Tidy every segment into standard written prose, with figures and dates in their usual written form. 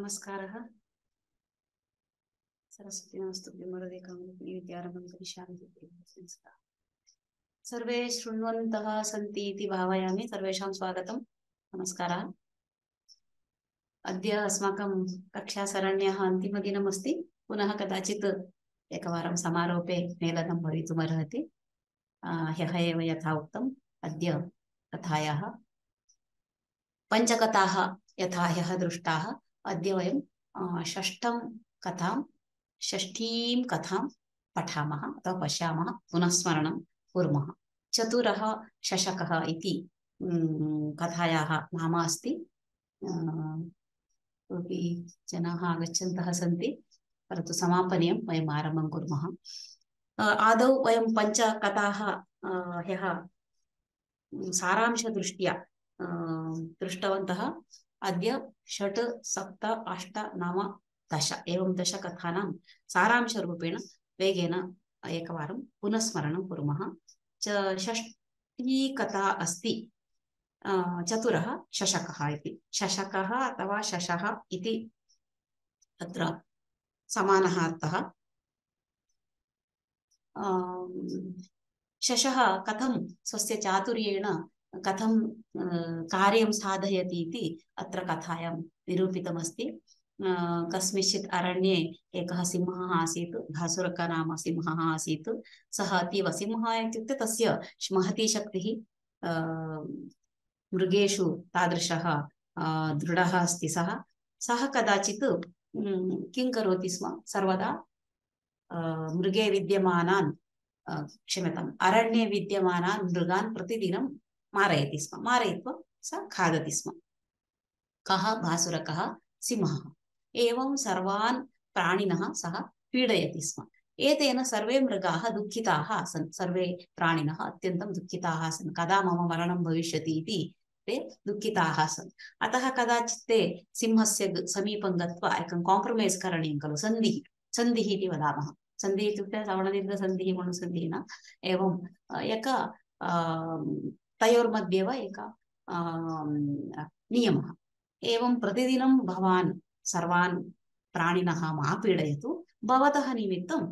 नमस्कारः। सरस्वती नमस्तुभ्यं वरदे कामरूपिणि विद्यारम्भं करिष्यामि। नमस्कारः। सर्वे शृण्वन्तः सन्ति इति भावयामि। सर्वेषां स्वागतं। नमस्कारः। अद्य अस्माकं कक्षासरण्याः अन्तिमदिनम् अस्ति। पुनः कदाचित् एकवारं समारोपे मेलनं भवितुमर्हति। ह्यः एव यथा उक्तम्, अद्य कथायाः पञ्चकथाः यथा ह्यः दृष्टाः, अद्य वयं षष्ठीं कथां पठामः अथवा पश्यामः, पुनस्मरणं कुर्मः। चतुरः शशकः इति कथायाः नाम अस्ति। कोऽपि जनाः आगच्छन्तः सन्ति, परन्तु समापनीयं। वयम् आरम्भं कुर्मः। आदौ वयं पञ्चकथाः ह्यः सारांशदृष्ट्या दृष्टवन्तः। अद्य 6, 7, 8, 9, 10 एवं 10 कथानां सारांशरूपेण वेगेन एकवारं पुनस्मरणं कुर्मः। षष्ठी कथा अस्ति चतुरः शशकः इति। शशकः अथवा शशः इति अत्र समानः अर्थः। शशः कथं स्वस्य चातुर्येण कथं कार्यं साधयति इति अत्र कथायां निरूपितमस्ति। कस्मिंश्चित् अरण्ये एकः सिंहः आसीत्। भासुरक नाम सिंहः आसीत्। सः अतीव, सिंहः इत्युक्ते तस्य महती शक्तिः, मृगेषु तादृशः दृढः अस्ति सः कदाचित् किं करोति स्म, सर्वदा मृगे विद्यमानान् क्षम्यताम् अरण्ये विद्यमानान् मृगान् प्रतिदिनं मारयति स्म। मारयित्वा स खादति स्म। कः? भासुरकः, सिंहः। एवं सर्वान् प्राणिनः सः पीडयति स्म। एतेन सर्वे मृगाः दुःखिताः आसन्। सर्वे प्राणिनः अत्यन्तं दुःखिताः आसन्। कदा मम मरणं भविष्यति इति ते दुःखिताः आसन्। अतः कदाचित् ते सिंहस्य समीपं गत्वा एकं काम्प्रमैस् करणीयं खलु, सन्धिः इति वदामः। सन्धिः इत्युक्ते सवर्णदीर्घसन्धिः, गुणसन्धिः न। एवं तयोर्मध्ये एव एकः नियमः। एवं प्रतिदिनं भवान् सर्वान् प्राणिनः मा पीडयतु, भवतः निमित्तं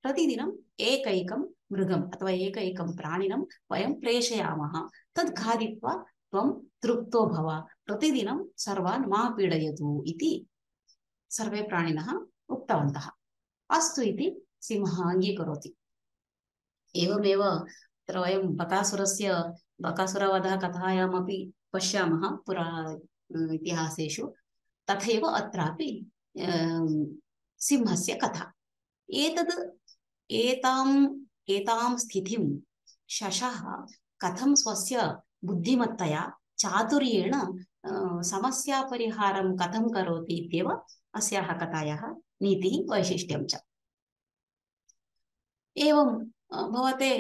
प्रतिदिनं एकैकं मृगम् अथवा एकैकं प्राणिनं वयं प्रेषयामः। तद् खादित्वा त्वं तृप्तो भव, प्रतिदिनं सर्वान् मा पीडयतु इति सर्वे प्राणिनः उक्तवन्तः। अस्तु इति सिंहः अङ्गीकरोति। एवमेव तत्र वयं बकासुरवधः कथायामपि पश्यामः पुरा इतिहासेषु। तथैव अत्रापि सिंहस्य कथा। एतां स्थितिं शशः कथं स्वस्य बुद्धिमत्तया चातुर्येण समस्यापरिहारं कथं करोति इत्येव अस्याः कथायाः नीतिः, वैशिष्ट्यं च। एवं भवते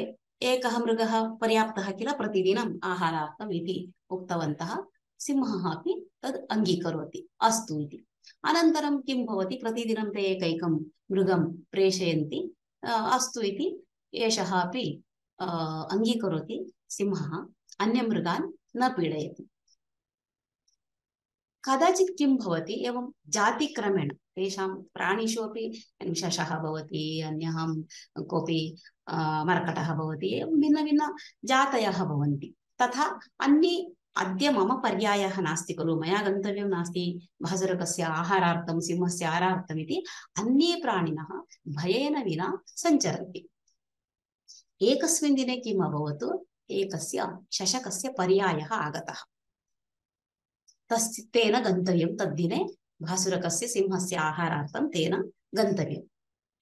एकः मृगः पर्याप्तः किल प्रतिदिनम् आहारार्थम् इति उक्तवन्तः। सिंहः अपि तद् अङ्गीकरोति, अस्तु इति। अनन्तरं किं भवति, प्रतिदिनं ते एकैकं मृगं प्रेषयन्ति। अस्तु इति एषः अपि अङ्गीकरोति। सिंहः अन्यमृगान् न पीडयति। कदाचित् किं भवति, एवं जातिक्रमेण तेषां प्राणिषु अपि शशः भवति, अन्यः कोऽपि मर्कटः भवति, एवं भिन्नभिन्न जातयः भवन्ति। तथा अन्ये, अद्य मम पर्यायः नास्ति खलु, मया गन्तव्यं नास्ति भासुरकस्य आहारार्थं, सिंहस्य आहारार्थम् इति अन्ये प्राणिनः भयेन विना सञ्चरन्ति। एकस्मिन् दिने किम् अभवत्, एकस्य शशकस्य पर्यायः आगतः। तेन गन्तव्यं, तद्दिने भासुरकस्य सिंहस्य आहारार्थं तेन गन्तव्यं।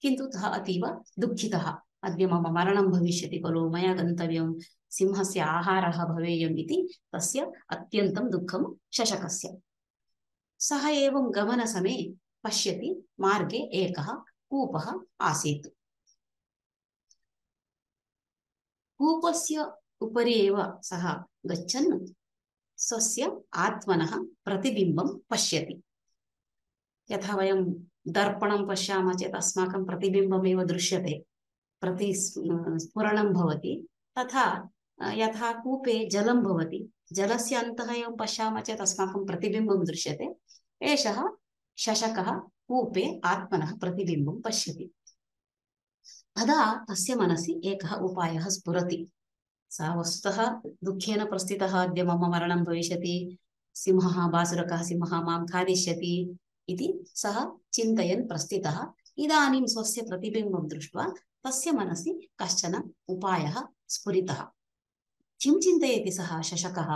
किन्तु सः अतीव दुःखितः। अद्य मम मरणं भविष्यति खलु, मया गन्तव्यं, सिंहस्य आहारः भवेयम् इति तस्य अत्यन्तं दुःखं शशकस्य। सः एवं गमनसमये पश्यति, मार्गे एकः कूपः आसीत्। कूपस्य उपरि एव सः गच्छन् स्वस्य आत्मनः प्रतिबिम्बं पश्यति। यथा वयं दर्पणं पश्यामः चेत् अस्माकं प्रतिबिम्बमेव दृश्यते, प्रतिस्फुरणं भवति। तथा यथा कूपे जलं भवति, जलस्य अन्तः एवं पश्यामः चेत् अस्माकं प्रतिबिम्बं दृश्यते। एषः शशकः कूपे आत्मनः प्रतिबिम्बं पश्यति। तदा तस्य मनसि एकः उपायः स्फुरति। सः वस्तुतः दुःखेन प्रस्थितः, अद्य मम मरणं भविष्यति, सिंहः बासुरकः सिंहः मां खादिष्यति इति सः चिन्तयन् प्रस्थितः। इदानीं स्वस्य प्रतिबिम्बं दृष्ट्वा तस्य मनसि कश्चन उपायः स्फुरितः। किं चिन्तयति सः शशकः?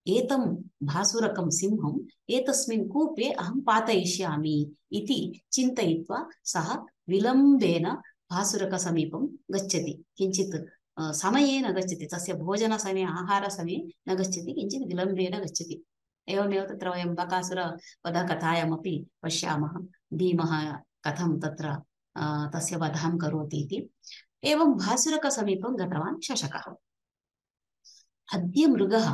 एतं भासुरकं सिंहम् एतस्मिन् कूपे अहं पातयिष्यामि इति चिन्तयित्वा सः विलम्बेन भासुरकसमीपं गच्छति। किञ्चित् समये न गच्छति, तस्य भोजनसमये आहारसमये न गच्छति, किञ्चित् विलम्बेन गच्छति। एवमेव तत्र वयं बकासुरवधकथायामपि पश्यामः, भीमः कथं तत्र तस्य वधं करोति इति। एवं भासुरकसमीपं गतवान् शशकः। अद्य मृगः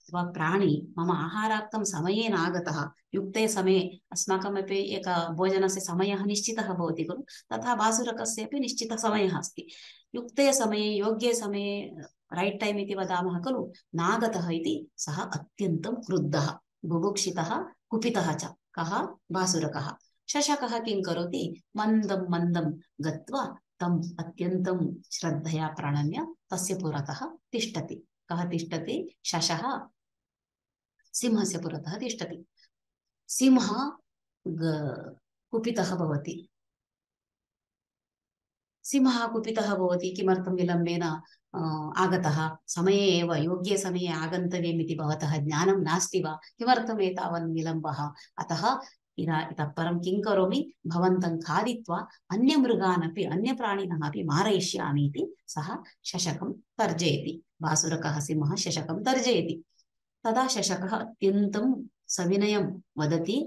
अथवा प्राणी मम आहारार्थं समयेन आगतः, युक्ते समये अस्माकमपि एक भोजनस्य समयः निश्चितः भवति खलु, तथा भासुरकस्यापि निश्चितः समयः अस्ति। युक्ते समये योग्ये समये रैट् टैम् इति वदामः खलु, नागतः इति सः अत्यन्तं क्रुद्धः, बुभुक्षितः, कुपितः च। कः? भासुरकः। शशकः किं करोति? मन्दं मन्दं गत्वा तम् अत्यन्तं श्रद्धया प्रणम्य तस्य पुरतः तिष्ठति। कः तिष्ठति? शशः सिंहस्य पुरतः तिष्ठति। सिंहः कुपितः भवति। सिंहः कुपितः भवति, किमर्थं विलम्बेन आगतः? समये एव योग्ये समये आगन्तव्यम् इति भवतः ज्ञानं नास्ति वा? किमर्थम् एतावन् विलम्बः? अतः इतः परं किं करोमि? भवन्तं खादित्वा अन्यमृगान् अपि अन्यप्राणिनः अपि मारयिष्यामि इति सः शशकं तर्जयति। भासुरकः सिंहः शशकं तर्जयति। तदा शशकः अत्यन्तं सविनयं वदति,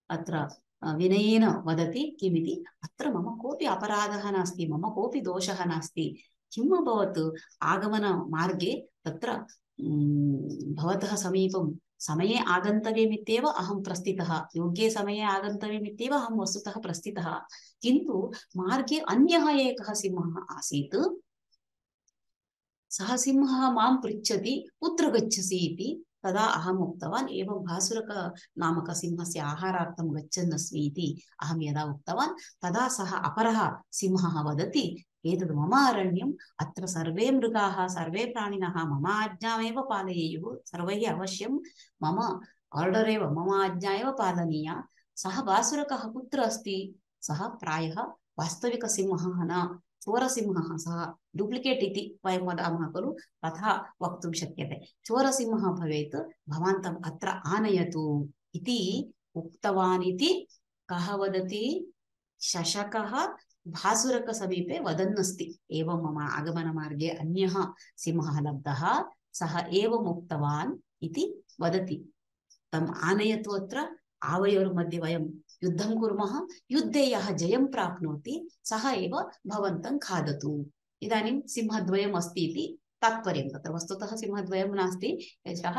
अत्र विनयेन वदति, किमिति? अत्र मम कोऽपि अपराधः नास्ति, मम कोऽपि दोषः नास्ति। किम् अभवत्? आगमनमार्गे तत्र भवतः समीपं समये आगन्तव्यमित्येव अहं प्रस्थितः, योग्ये समये आगन्तव्यमित्येव अहं वस्तुतः प्रस्थितः, किन्तु मार्गे अन्यः एकः सिंहः आसीत्। सः सिंहः मां पृच्छति, कुत्र गच्छसि इति। तदा अहम् उक्तवान्, एवं भासुरक नामक सिंहस्य आहारार्थं गच्छन् अस्मि इति अहं यदा उक्तवान्, तदा सः अपरः सिंहः वदति, एतद् मम अरण्यम्, अत्र सर्वे मृगाः सर्वे प्राणिनः मम आज्ञामेव पालयेयुः, सर्वैः अवश्यं मम आर्डर् एव, मम आज्ञा एव पालनीया। सः भासुरकः कुत्र अस्ति? सः प्रायः वास्तविकसिंहः न, चोरसिंहः, सः डुप्लिकेट् इति वयं वदामः खलु, तथा वक्तुं शक्यते। चोरसिंहः भवेत्, भवान् तम् अत्र आनयतु इति उक्तवान् इति कः वदति? शशकः भासुरकसमीपे वदन्नस्ति, एवं मम आगमनमार्गे अन्यः सिंहः लब्धः, सः एवम् उक्तवान् इति वदति। तम् आनयतु, अत्र आवयोर्मध्ये वयं युद्धं कुर्मः, युद्धे यः जयं प्राप्नोति सः एव भवन्तं खादतु। इदानीं सिंहद्वयम् अस्ति इति तात्पर्यं। तत्र वस्तुतः सिंहद्वयं नास्ति, एषः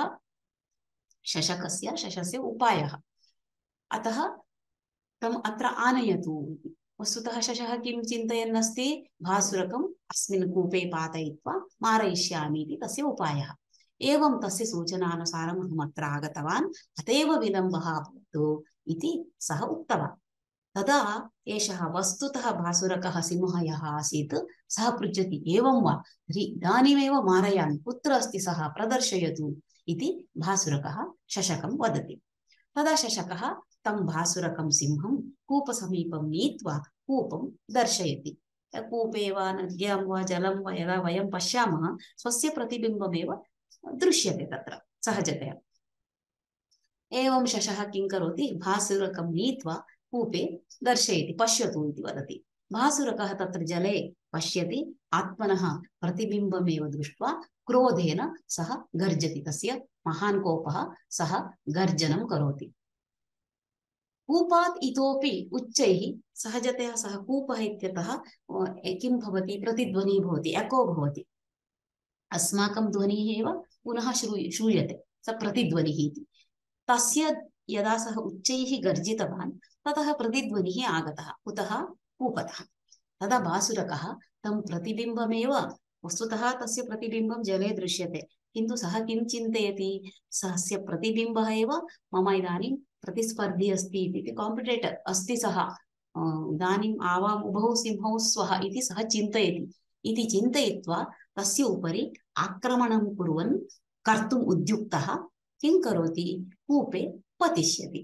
शशस्य उपायः। अतः तम् अत्र आनयतु। वस्तुतः शशः किं चिन्तयन् अस्ति? भासुरकम् अस्मिन् कूपे पातयित्वा मारयिष्यामि इति तस्य उपायः। एवं तस्य सूचनानुसारम् अहम् अत्र आगतवान्, अतएव विलम्बः अभवत् इति सः उक्तवान्। तदा एषः वस्तुतः भासुरकः सिंहः यः आसीत् सः पृच्छति, एवं वा, तर्हि इदानीमेव मारयामि, कुत्र अस्ति सः, प्रदर्शयतु इति भासुरकः शशकं वदति। तदा शशकः तं भासुरकं सिंहं कूपसमीपं नीत्वा कूपं दर्शयति। कूपे वा नद्यां वा जलं वा यदा वयं पश्यामः, स्वस्य प्रतिबिम्बमेव दृश्यते तत्र सहजतया। एवं शशः किं करोति? भासुरकं नीत्वा कूपे दर्शयति, पश्यतु इति वदति। भासुरकः तत्र जले पश्यति, आत्मनः प्रतिबिम्बमेव दृष्ट्वा क्रोधेन सः गर्जति, तस्य महान् कोपः, सः गर्जनं करोति। कूपात् इतोपि उच्चैः, सहजतया सः कूपः इत्यतः किं भवति? प्रतिध्वनिः भवति, एको भवति, अस्माकं ध्वनिः एव पुनः श्रूयते, स प्रतिध्वनिः इति। तस्य यदा सः उच्चैः गर्जितवान्, ततः प्रतिध्वनिः आगतः, कुतः? कूपतः। तदा भासुरकः तं प्रतिबिम्बमेव वस्तुतः तस्य प्रतिबिम्बं जले दृश्यते, किन्तु सः किं चिन्तयति, सस्य प्रतिबिम्बः एव मम इदानीं प्रतिस्पर्धी अस्ति इति, काम्पिटेटर् अस्ति सः, इदानीम् आवाम् उभौ सिंहौ स्वः इति सः चिन्तयति। इति चिन्तयित्वा तस्य उपरि आक्रमणं कुर्वन् कर्तुम् उद्युक्तः किं करोति, कूपे पतिष्यति।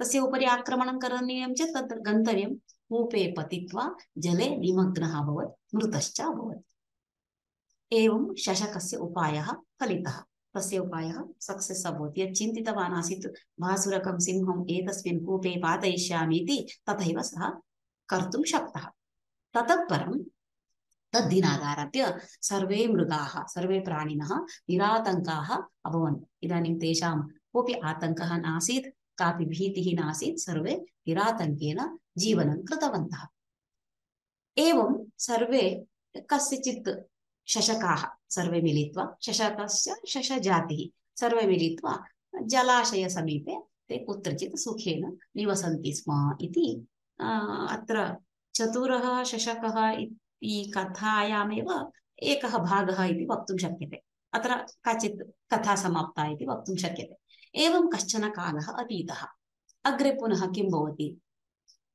तस्य उपरि आक्रमणं करणीयं चेत् तत्र गन्तव्यं, कूपे पतित्वा जले निमग्नः अभवत्, मृतश्च अभवत्। एवं शशकस्य उपायः फलितः, तस्य उपायः सक्सेस् अभवत्। यत् चिन्तितवान् आसीत् भासुरकं सिंहम् एतस्मिन् कूपे पातयिष्यामि इति, तथैव सः कर्तुं शक्तः। ततः परं तद्दिनादारभ्य सर्वे मृगाः, सर्वे प्राणिनः निरातङ्काः अभवन्। इदानीं तेषां कोऽपि आतङ्कः नासीत्, कापि भीतिः नासीत्, सर्वे निरातङ्केन जीवनं कृतवन्तः। एवं सर्वे कस्यचित् शशकाः सर्वे मिलित्वा, शशकस्य शशजातिः सर्वे मिलित्वा जलाशयसमीपे ते कुत्रचित् सुखेन निवसन्ति स्म इति अत्र चतुरः शशकः इति कथायामेव एकः भागः इति वक्तुं शक्यते। अत्र काचित् कथा समाप्ता इति वक्तुं शक्यते। एवं कश्चन कालः अतीतः। अग्रे पुनः किं भवति,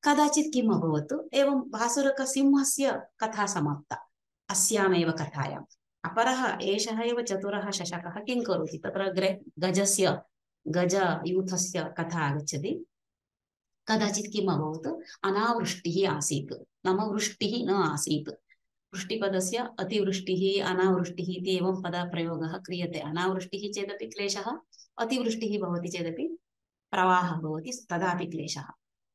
कदाचित् किम् अभवत्, एवं भासुरकसिंहस्य कथा समाप्ता अस्यामेव कथायाम्। अपरः एषः एव चतुरः शशकः किं करोति, तत्र अग्रे गजयूथस्य कथा आगच्छति। कदाचित् किम् अभवत्, अनावृष्टिः आसीत्, नाम वृष्टिः न आसीत्। वृष्टिपदस्य अतिवृष्टिः अनावृष्टिः इति एवं पदप्रयोगः क्रियते। अनावृष्टिः चेदपि क्लेशः, अतिवृष्टिः भवति चेदपि प्रवाहः भवति, तदापि क्लेशः।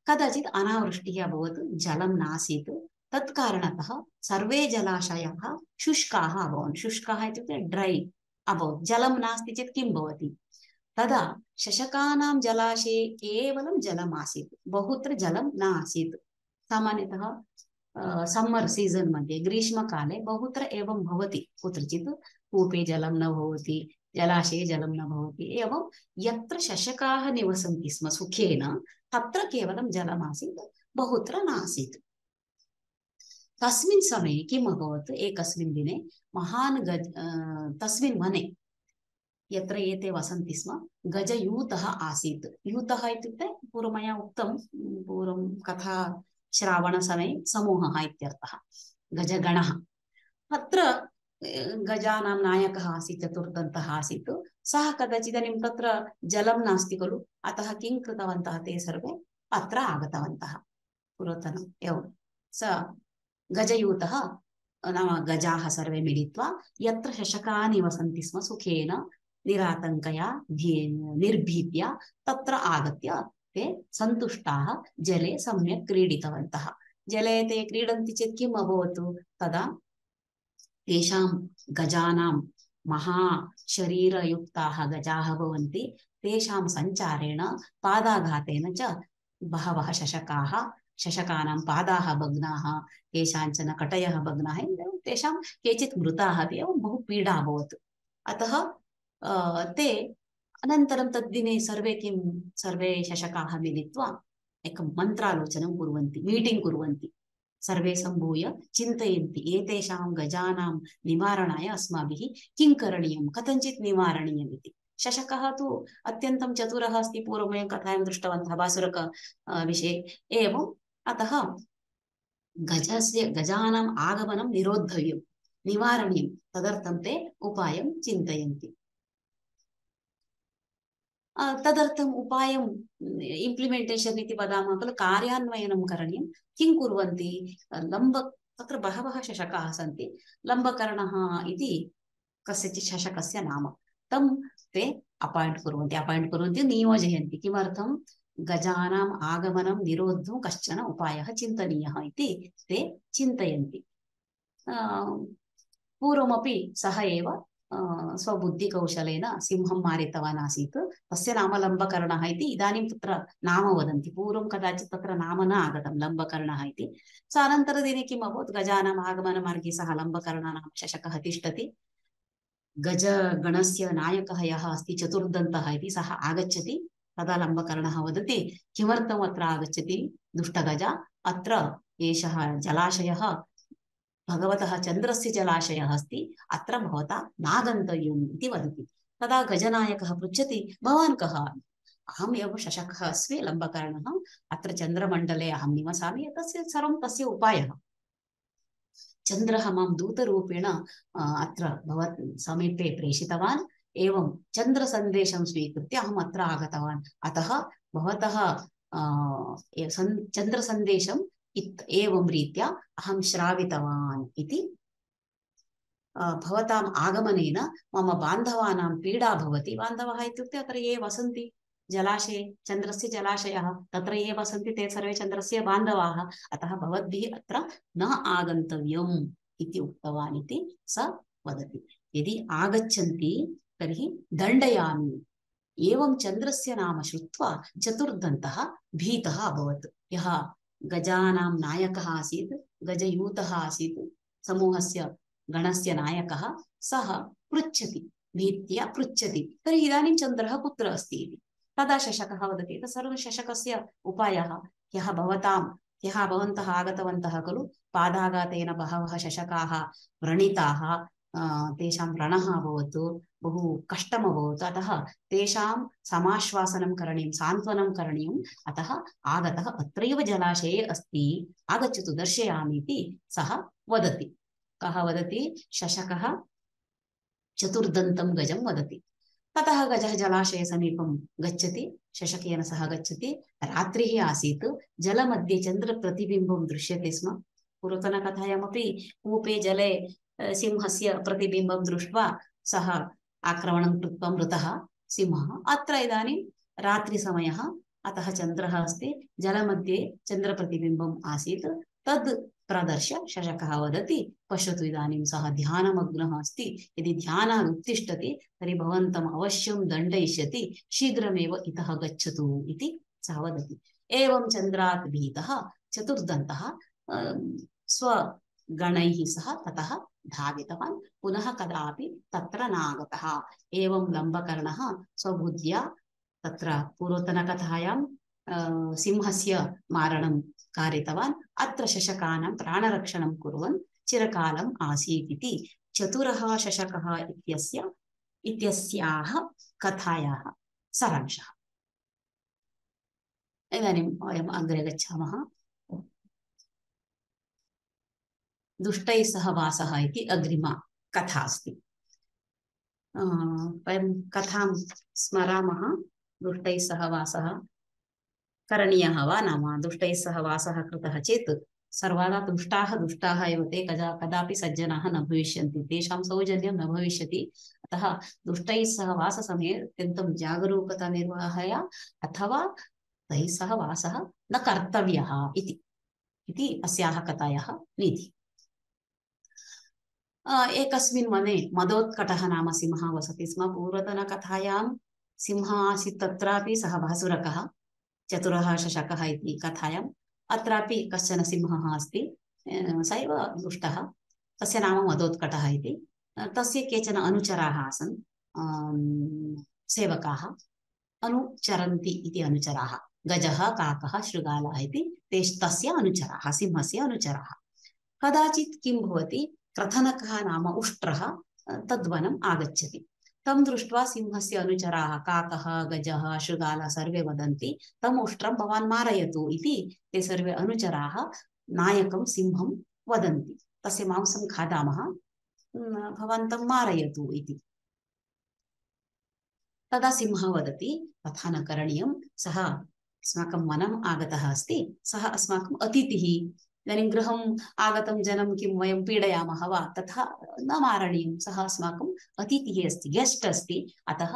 कदाचित् अनावृष्टिः अभवत्, जलं नासीत्, तत्कारणतः सर्वे जलाशयाः शुष्काः अभवन्। शुष्काः इत्युक्ते ड्रै अभवत्, जलं नास्ति चेत् किं भवति। तदा शशकानां जलाशये केवलं जलम् आसीत्, बहुत्र जलं न आसीत्। सामान्यतः सम्मर् सीजन् मध्ये, ग्रीष्मकाले बहुत्र एवं भवति, कुत्रचित् कूपे जलं न भवति, जलाशये जलं न भवति। एवं यत्र शशकाः निवसन्ति स्म सुखेन, तत्र केवलं जलमासीत्, बहुत्र नासीत्। तस्मिन् समये किम् अभवत्, एकस्मिन् दिने महान् तस्मिन् वने यत्र एते वसन्ति स्म गजयूतः आसीत्। यूतः इत्युक्ते पूर्वं मया उक्तं, पूर्वं कथा श्रावणसमये समूहः इत्यर्थः, गजगणः। अत्र गजानां नायकः आसीत्, चतुर्दन्तः आसीत्। सः कदाचित्, इदानीं तत्र जलं नास्ति खलु, अतः किं कृतवन्तः, ते सर्वे अत्र आगतवन्तः पुरातनम्। एवं स गजयूतः नाम गजाः सर्वे मिलित्वा यत्र शशकाः निवसन्ति स्म सुखेन निरातङ्कया निर्भीत्या, तत्र आगत्य ते सन्तुष्टाः जले सम्यक् क्रीडितवन्तः। जले ते क्रीडन्ति चेत् किम् अभवत्, तदा तेषां गजानां महाशरीरयुक्ताः गजाः भवन्ति, तेषां सञ्चारेण पादाघातेन च बहवः शशकानां पादाः भग्नाः, केषाञ्चन कटयः भग्नाः, तेषां केचित् मृताः अपि, एवं बहु पीडा अभवत्। अतः ते अनन्तरं तद्दिने सर्वे शशकाः मिलित्वा एकं मन्त्रालोचनं कुर्वन्ति, मीटिङ्ग् कुर्वन्ति। सर्वे सम्भूय चिन्तयन्ति, एतेषां गजानां निवारणाय अस्माभिः किं करणीयं, कथञ्चित् निवारणीयम् इति। शशकः तु अत्यन्तं चतुरः अस्ति, पूर्वं वयं कथायां दृष्टवन्तः भासुरक विषये। एवम् अतः गजानाम् आगमनं निरोद्धव्यं, निवारणीयं, तदर्थं ते उपायं चिन्तयन्ति। तदर्थम् उपायं इम्प्लिमेण्टेशन् इति वदामः खलु, कार्यान्वयनं करणीयं। किं कुर्वन्ति, तत्र बहवः शशकाः सन्ति, लम्बकर्णः इति कस्यचित् शशकस्य नाम, तं ते अपायिण्ट् कुर्वन्ति, नियोजयन्ति। किमर्थं, गजानाम् आगमनं निरोद्धुं कश्चन उपायः चिन्तनीयः इति ते चिन्तयन्ति। पूर्वमपि सः एव स्वबुद्धिकौशलेन सिंहं मारितवान् आसीत्, तस्य नाम लम्बकर्णः इति। इदानीं तत्र नाम वदन्ति, पूर्वं कदाचित् तत्र नाम न आगतं लम्बकर्णः इति। अनन्तरदिने किम् अभवत्, गजानाम् आगमनमार्गे सः लम्बकर्णः नाम शशकः तिष्ठति। गजगणस्य नायकः यः अस्ति चतुर्दन्तः इति, सः आगच्छति। तदा लम्बकर्णः वदति, किमर्थम् अत्र आगच्छति दुष्टगज, अत्र एषः जलाशयः भगवतः चन्द्रस्य जलाशयः अस्ति, अत्र भवता नागन्तव्यम् इति वदति। तदा गजनायकः पृच्छति, भवान् कः? अहम् एव शशकः अस्मि, लम्बकर्णः, अत्र चन्द्रमण्डले अहं निवसामि, तस्य सर्वं तस्य उपायः। चन्द्रः मां दूतरूपेण अत्र भवत् समीपे प्रेषितवान्, एवं चन्द्रसन्देशं स्वीकृत्य अहम् अत्र आगतवान्, अतः भवतः चन्द्रसन्देशम् एवं रीत्या अहं श्रावितवान् इति। भवताम् आगमनेन मम बान्धवानां पीडा भवति। बान्धवः इत्युक्ते अत्र ये वसन्ति जलाशये, चन्द्रस्य जलाशयः, तत्र ये वसन्ति ते सर्वे चन्द्रस्य बान्धवाः, अतः भवद्भिः अत्र न आगन्तव्यम् इति उक्तवान् इति स वदति। यदि आगच्छन्ति तर्हि दण्डयामि। एवं चन्द्रस्य नाम श्रुत्वा चतुर्दन्तः भीतः अभवत्। यः गजानां नायकः आसीत्, गजयूतः आसीत्, समूहस्य गणस्य नायकः, सः पृच्छति, भीत्या पृच्छति, तर्हि इदानीं चन्द्रः कुत्र अस्ति इति। तदा शशकः वदति, सर्वं शशकस्य उपायः, ह्यः भवन्तः आगतवन्तः खलु, पादाघातेन बहवः शशकाः व्रणिताः, तेषां व्रणः अभवत्, बहु कष्टम् अभवत्, अतः तेषां समाश्वासनं करणीयं, सान्त्वनं करणीयम्, अतः आगतः अत्रैव जलाशये अस्ति, आगच्छतु दर्शयामि इति सः वदति। कः वदति? शशकः चतुर्दन्तं गजं वदति। ततः गजः जलाशय समीपं गच्छति, शशकेन सह गच्छति। रात्रिः आसीत्, जलमध्ये चन्द्रप्रतिबिम्बं दृश्यते स्म। पूर्वतनकथायामपि कूपे जले सिंहस्य प्रतिबिम्बं दृष्ट्वा सः आक्रमणं कृत्वा मृतः सिंहः। अत्र इदानीं रात्रिसमयः, अतः चन्द्रः अस्ति, जलमध्ये चन्द्रप्रतिबिम्बम् आसीत्, तद् प्रदर्श्य शशकः वदति, पश्यतु इदानीं सः ध्यानमग्नः अस्ति, यदि ध्यानात् उत्तिष्ठति तर्हि भवन्तम् अवश्यं दण्डयिष्यति, शीघ्रमेव इतः गच्छतु इति सः वदति। एवं चन्द्रात् भीतः चतुर्दन्तः स्वगणैः सह ततः धावितवान्, पुनः कदापि तत्र नागतः। एवं लम्बकर्णः स्वबुद्ध्या तत्र पूर्वतनकथायां सिंहस्य मारणं कारितवान्, अत्र शशकानां प्राणरक्षणं कुर्वन् चिरकालम् आसीत् इति चतुरः शशकः इत्यस्याः कथायाः सारांशः। इदानीं वयम् अग्रे गच्छामः। दुष्टैः सह वासः इति अग्रिमा कथा अस्ति। वयं कथां स्मरामः। दुष्टैः सह वासः करणीयः वा न वा? दुष्टैः सह वासः कृतः चेत् सर्वदा दुष्टाः एव ते, कदापि सज्जनाः न भविष्यन्ति, तेषां सौजन्यं न भविष्यति। अतः दुष्टैः सह वाससमये अत्यन्तं जागरूकता निर्वहय, अथवा तैः सह वासः न कर्तव्यः इति अस्याः कथायाः नीतिः। एकस्मिन् वने मदोत्कटः नाम सिंहः वसति स्म। पूर्वतनकथायां सिंहः आसीत्, तत्रापि सः भासुरकः, चतुरः शशकः इति कथायाम् अत्रापि कश्चन सिंहः अस्ति, स एव दुष्टः, तस्य नाम मदोत्कटः इति। तस्य केचन अनुचराः आसन्, सेवकाः, अनुचरन्ति इति अनुचराः, गजः, काकः, शृगालः इति तस्य अनुचराः, सिंहस्य अनुचराः। कदाचित् किं भवति, क्रथनकः नाम उष्ट्रः तद्वनम् आगच्छति। तं दृष्ट्वा सिंहस्य अनुचराः, काकः, गजः, शृगालः सर्वे वदन्ति, तम् उष्ट्रं भवान् मारयतु इति। ते सर्वे अनुचराः नायकं सिंहं वदन्ति, तस्य मांसं खादामः, भवान् तं मारयतु इति। तदा सिंहः वदति, तथा न करणीयं, सः अस्माकं वनम् आगतः अस्ति, सः अस्माकम् अतिथिः, इदानीं गृहम् आगतं जनं किं वयं पीडयामः वा? तथा न मारणीयं, सः अस्माकम् अतिथिः अस्ति, गेस्ट् अस्ति, अतः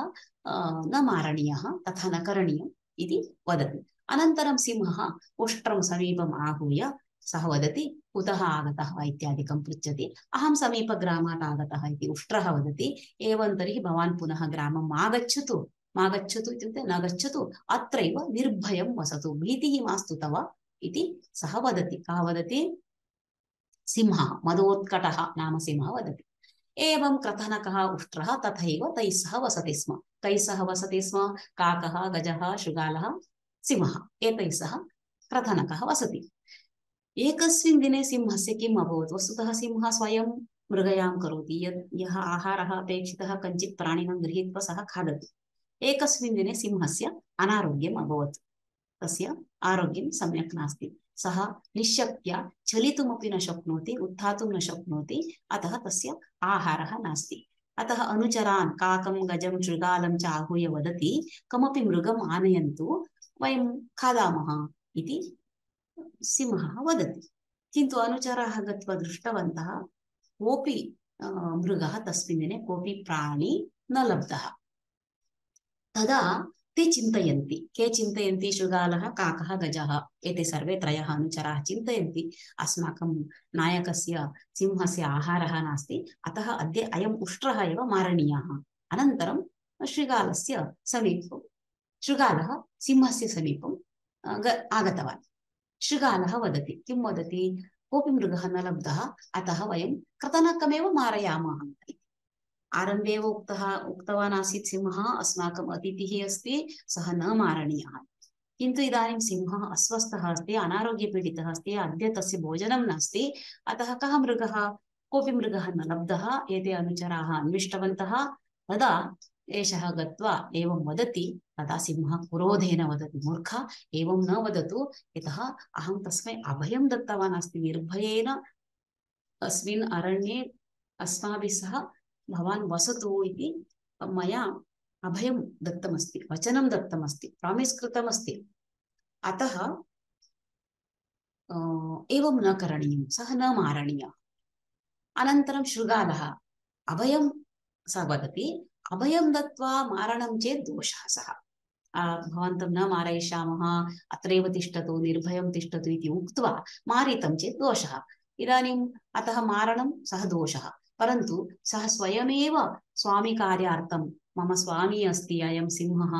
न मारणीयः, तथा न करणीयम् इति वदति। अनन्तरं सिंहः उष्ट्रं समीपम् आहूय सः वदति, कुतः आगतः वा इत्यादिकं पृच्छति। अहं समीपग्रामात् आगतः इति उष्ट्रः वदति। एवं तर्हि भवान् पुनः ग्रामं मा गच्छतु इत्युक्ते न गच्छतु, अत्रैव निर्भयं वसतु, भीतिः मास्तु तव इति सः वदति। कः वदति? सिंहः, मदोत्कटः नाम सिंहः वदति। एवं क्रथनकः उष्ट्रः तथैव तैः सह वसति स्म। कैः सह वसति स्म? काकः, गजः, शृगालः, सिंहः, एतैः सह क्रथनकः वसति। एकस्मिन् दिने सिंहस्य किम् अभवत्? वस्तुतः सिंहः स्वयं मृगयां करोति, यः आहारः अपेक्षितः कञ्चित् प्राणिनं गृहीत्वा सः खादति। एकस्मिन् दिने सिंहस्य अनारोग्यम् अभवत्, तस्य आरोग्यं सम्यक् नास्ति, सः निश्शक्त्या चलितुमपि न शक्नोति, उत्थातुं न शक्नोति, अतः तस्य आहारः नास्ति। अतः अनुचरान् काकं गजं शृगालं च आहूय वदति, कमपि मृगम् आनयन्तु, वयं खादामः इति सिंहः वदति। किन्तु अनुचराः गत्वा दृष्टवन्तः, कोऽपि मृगः तस्मिन् दिने कोऽपि प्राणी न लब्धः। तदा ते चिन्तयन्ति, के चिन्तयन्ति? शृगालः, काकः, गजः, एते सर्वे त्रयः अनुचराः चिन्तयन्ति, अस्माकं नायकस्य सिंहस्य आहारः नास्ति, अतः अद्य अयम् उष्ट्रः एव मारणीयः। अनन्तरं शृगालस्य समीपं शृगालः सिंहस्य समीपं आगतवान्। शृगालः वदति, किं वदति? कोऽपि मृगः न लब्धः, अतः वयं कृतनकमेव मारयामः इति। आरम्भे एव उक्तवान् आसीत् सिंहः, अस्माकम् अतिथिः अस्ति, सः न मारणीयः। किन्तु इदानीं सिंहः अस्वस्थः अस्ति, अनारोग्यपीडितः अस्ति, अद्य तस्य भोजनं नास्ति, अतः कः मृगः? कोऽपि मृगः न लब्धः। एते अनुचराः अन्विष्टवन्तः। तदा एषः गत्वा एवं वदति, तदा सिंहः क्रोधेन वदति, मूर्ख, एवं न वदतु, यतः अहं तस्मै अभयं दत्तवान् अस्ति, निर्भयेन अस्मिन् अरण्ये अस्माभिः सह भवान् वसतु इति मया अभयं दत्तमस्ति, वचनं दत्तमस्ति, प्रामिस् कृतमस्ति, अतः एवं न करणीयं, सः न मारणीयः। अनन्तरं शृगालः अभयं सः वदति, अभयं दत्वा मारणं चेत् दोषः, सः भवन्तं न मारयिष्यामः, अत्रैव तिष्ठतु, निर्भयं तिष्ठतु इति उक्त्वा मारितं चेत् दोषः। इदानीम् अतः मारणं सः दोषः, परन्तु सः स्वयमेव स्वामिकार्यार्थं, मम स्वामी अस्ति अयं सिंहः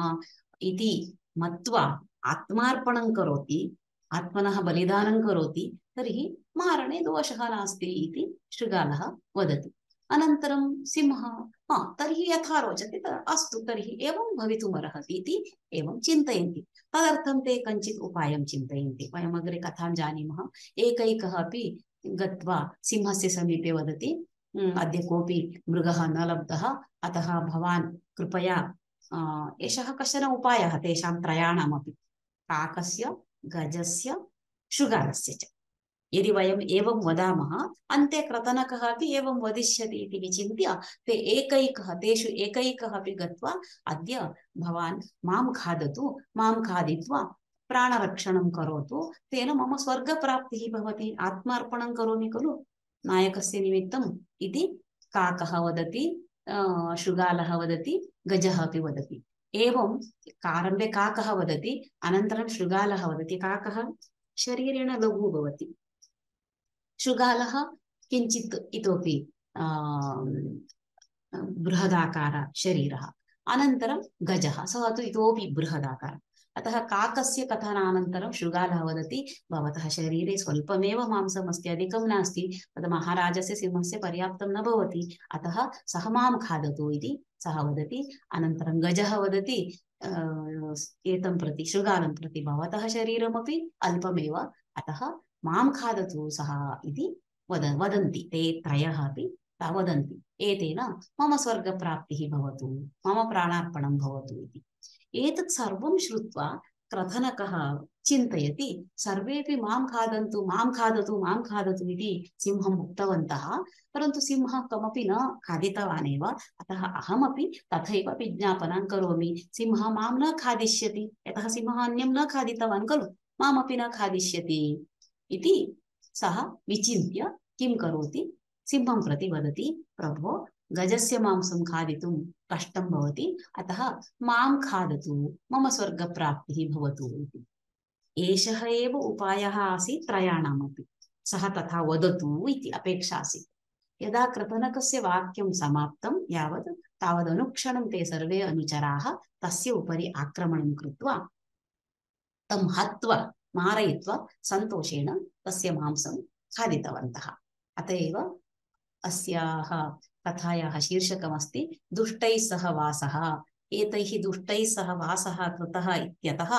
इति मत्वा आत्मार्पणं करोति, आत्मनः बलिदानं करोति, तर्हि मारणे दोषः नास्ति इति शृगालः वदति। अनन्तरं सिंहः, तर्हि यथा रोचते अस्तु, तर्हि एवं भवितुमर्हति इति एवं चिन्तयन्ति। तदर्थं ते कञ्चित् उपायं चिन्तयन्ति, वयम् अग्रे कथां जानीमः। एकैकः अपि गत्वा सिंहस्य समीपे वदति, अद्य कोऽपि मृगः न लब्धः, अतः भवान् कृपया, एषः कश्चन उपायः तेषां त्रयाणामपि, काकस्य, गजस्य, शृगालस्य च। यदि वयम् एवं वदामः, अन्ते क्रतनकः अपि एवं वदिष्यति इति विचिन्त्य ते तेषु एकैकः अपि गत्वा, अद्य भवान् मां खादतु, मां खादित्वा प्राणरक्षणं करोतु, तेन मम स्वर्गप्राप्तिः भवति, आत्मार्पणं करोमि खलु नायकस्य निमित्तम् इति काकः वदति, शृगालः वदति, गजः अपि वदति। एवं आरम्भे काकः वदति, अनन्तरं शृगालः वदति। काकः शरीरेण लघु भवति, शृगालः किञ्चित् इतोपि बृहदाकार शरीरः, अनन्तरं गजः, सः तु इतोपि बृहदाकार। अतः काकस्य कथनानन्तरं शृगालः वदति, भवतः शरीरे स्वल्पमेव मांसमस्ति, अधिकं नास्ति, तद् महाराजस्य सिंहस्य पर्याप्तं न भवति, अतः सः मां खादतु इति सः वदति। अनन्तरं गजः वदति एतं प्रति, शृगालं प्रति, भवतः शरीरमपि अल्पमेव, अतः मां खादतु सः इति वदन्ति ते त्रयः अपि वदन्ति। एतेन मम स्वर्गप्राप्तिः भवतु, मम प्राणार्पणं भवतु इति। एतत् सर्वं श्रुत्वा क्रथनकः चिन्तयति, सर्वेपि मां खादन्तु, मां खादतु, मां खादतु इति सिंहम् उक्तवन्तः, परन्तु सिंहः कमपि न खादितवान् एव, अतः अहमपि तथैव विज्ञापनं करोमि, सिंहः मां न खादिष्यति, यतः सिंहः अन्यं न खादितवान् खलु, मामपि न खादिष्यति इति सः विचिन्त्य किं करोति, सिंहं प्रति वदति, प्रभो, गजस्य मांसं खादितुं कष्टं भवति, अतः मां खादतु, मम स्वर्गप्राप्तिः भवतु इति। एषः एव उपायः आसीत् त्रयाणामपि, सः तथा वदतु इति अपेक्षा आसीत्। यदा कृतनकस्य वाक्यं समाप्तं यावत्, तावदनुक्षणं ते सर्वे अनुचराः तस्य उपरि आक्रमणं कृत्वा तं हत्वा मारयित्वा सन्तोषेण तस्य मांसं खादितवन्तः। अत एव अस्याः कथायाः शीर्षकमस्ति दुष्टैः सह वासः। एतैः दुष्टैः सह वासः कृतः इत्यतः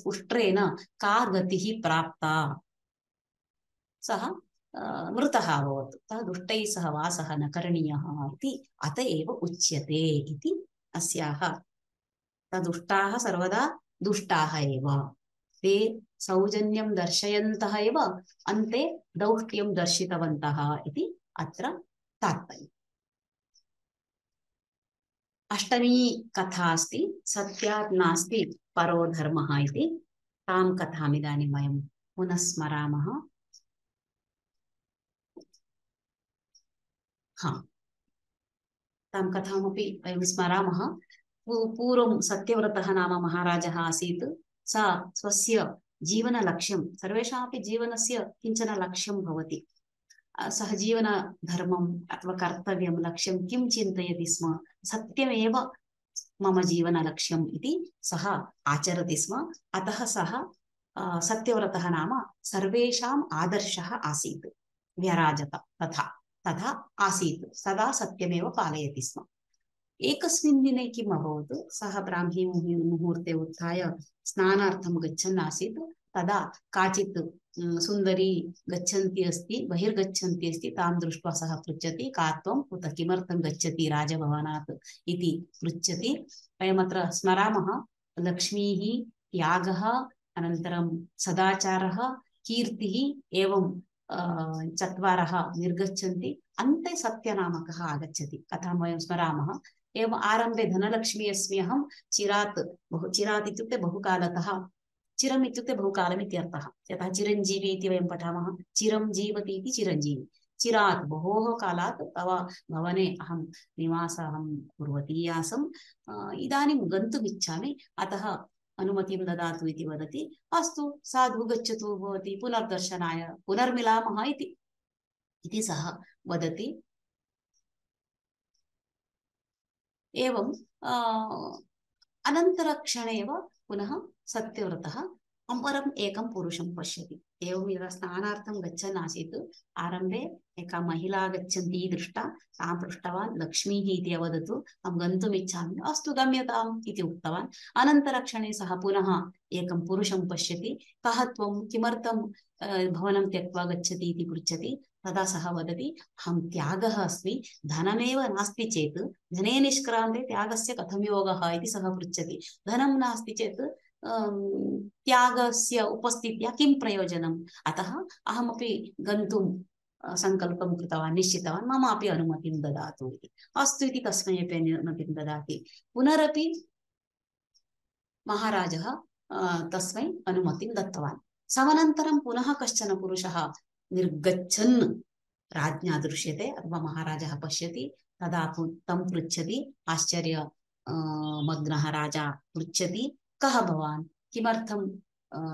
उष्ट्रेण का गतिः प्राप्ता सः मृतः अभवत्। अतः दुष्टैः सह वासः न करणीयः इति अत एव उच्यते इति अस्याः। दुष्टाः सर्वदा दुष्टाः एव, ते सौजन्यं दर्शयन्तः एव अन्ते दौष्ट्यं दर्शितवन्तः इति अत्र तात्पर्यम्। अष्टमी कथा अस्ति सत्यात् नास्ति परो धर्मः इति। तां कथाम् इदानीं वयं पुनः स्मरामः। तां कथामपि वयं स्मरामः। पूर्वं सत्यव्रतः नाम महाराजः आसीत्। सा स्वस्य जीवनलक्ष्यं, सर्वेषामपि जीवनस्य किञ्चन लक्ष्यं भवति। सः जीवनधर्मम् अथवा कर्तव्यं लक्ष्यं किं चिन्तयति स्म, सत्यमेव मम जीवनलक्ष्यम् इति सः आचरति स्म। अतः सः सत्यव्रतः नाम सर्वेषाम् आदर्शः आसीत्, व्यराजत तथा तथा आसीत्, सदा सत्यमेव पालयति स्म। एकस्मिन् दिने किम् अभवत्, सः ब्राह्मी मुहूर्ते उत्थाय स्नानार्थं गच्छन् आसीत्। तदा काचित् सुन्दरी गच्छन्ती अस्ति, बहिर्गच्छन्ती अस्ति। तां दृष्ट्वा सः पृच्छति, का त्वं, उत किमर्थं गच्छति राजभवनात् इति पृच्छति। वयमत्र स्मरामः, लक्ष्मीः, त्यागः, अनन्तरं सदाचारः, कीर्तिः, एवं चत्वारः निर्गच्छन्ति, अन्ते सत्यनामकः आगच्छति। कथां वयं स्मरामः। एवम् आरम्भे धनलक्ष्मी अस्मि अहं चिरात्, चिरात् इत्युक्ते बहुकालतः, चिरम् इत्युक्ते बहुकालम् इत्यर्थः। यतः चिरञ्जीवी इति वयं पठामः, चिरं जीवति इति चिरञ्जीवी। चिरात् बहोः कालात् तव भवने अहं निवासं कुर्वती आसम्, इदानीं गन्तुमिच्छामि, अतः अनुमतिं ददातु इति वदति। अस्तु साधु गच्छतु, भवती पुनर्दर्शनाय पुनर्मिलामः इति सः वदति। एवं अनन्तरक्षणे एव पुनः सत्यव्रतः अपरम् एकं पुरुषं पश्यति। एवं यदा स्नानार्थं गच्छन् आसीत्, आरम्भे एका महिला गच्छन्ती दृष्टा। तां पृष्टवान्, लक्ष्मीः इति अवदतु, अहं गन्तुम् इच्छामि। अस्तु गम्यताम् इति उक्तवान्। अनन्तरक्षणे सः पुनः एकं पुरुषं पश्यति। कः त्वं, किमर्थं भवनं त्यक्त्वा गच्छति इति पृच्छति। तदा सः वदति, अहं त्यागः अस्मि, धनमेव नास्ति चेत्, धने निष्क्रान्ते त्यागस्य कथं योगः इति सः पृच्छति। धनं नास्ति चेत् त्यागस्य उपस्थित्या किं प्रयोजनम्, अतः अहमपि गन्तुं सङ्कल्पं कृतवान्, निश्चितवान्, मम अपि अनुमतिं ददातु इति। अस्तु इति तस्मै अपि अनुमतिं ददाति। पुनरपि महाराजः तस्मै अनुमतिं दत्तवान्। समनन्तरं पुनः कश्चन पुरुषः निर्गच्छन् राज्ञा दृश्यते अथवा महाराजः पश्यति। तदा तं पृच्छति, आश्चर्य मग्नः राजा पृच्छति, कः भवान्, किमर्थं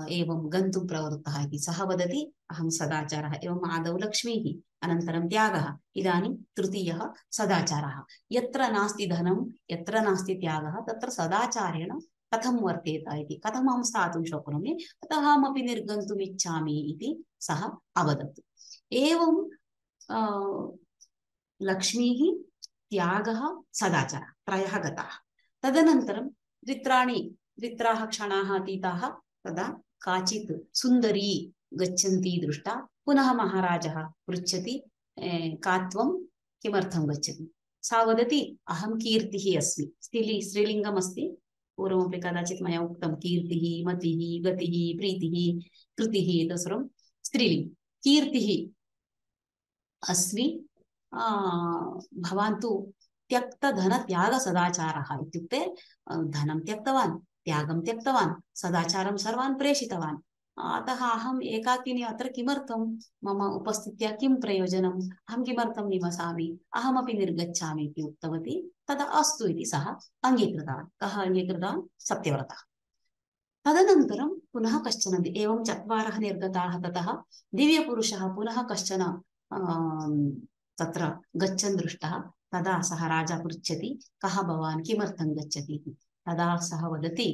एवं गन्तुं प्रवृत्तः इति। सः वदति, अहं सदाचारः। एवम् आदौ लक्ष्मीः, अनन्तरं त्यागः, इदानीं तृतीयः सदाचारः। यत्र नास्ति धनं, यत्र नास्ति त्यागः, तत्र सदाचारेण कथं वर्तेत इति, कथम् अहं स्थातुं शक्नोमि, अतः अहमपि निर्गन्तुम् इच्छामि इति सः अवदत्। एवं लक्ष्मीः, त्यागः, सदाचारः त्रयः गताः। तदनन्तरं द्वित्राः क्षणाः अतीताः। तदा काचित् सुन्दरी गच्छन्ती दृष्टा। पुनः महाराजः पृच्छति, का त्वं, किमर्थं गच्छति। सा वदति, अहं कीर्तिः अस्मि। स्त्रीलिङ्गमस्ति, पूर्वमपि कदाचित् मया उक्तं, कीर्तिः, मतिः, गतिः, प्रीतिः, कृतिः, एतत् सर्वं स्त्रीलिङ्गं। कीर्तिः अस्मि, भवान् तु त्यक्तधनत्यागसदाचारः, इत्युक्ते धनं त्यक्तवान्, त्यागं त्यक्तवान्, सदाचारं सर्वान् प्रेषितवान्। अतः अहम् एकाकिनी अत्र किमर्थं, मम उपस्थित्या किं प्रयोजनम्, अहं किमर्थं निवसामि, अहमपि निर्गच्छामि इति उक्तवती। तदा अस्तु इति सः अङ्गीकृतवान्। कः अङ्गीकृतवान्? सत्यव्रतः। तदनन्तरं पुनः कश्चन, एवं चत्वारः निर्गताः। ततः दिव्यपुरुषः पुनः कश्चन तत्र गच्छन् दृष्टः। तदा सः राजा पृच्छति, कः भवान्, किमर्थं गच्छति इति। तदा सः वदति,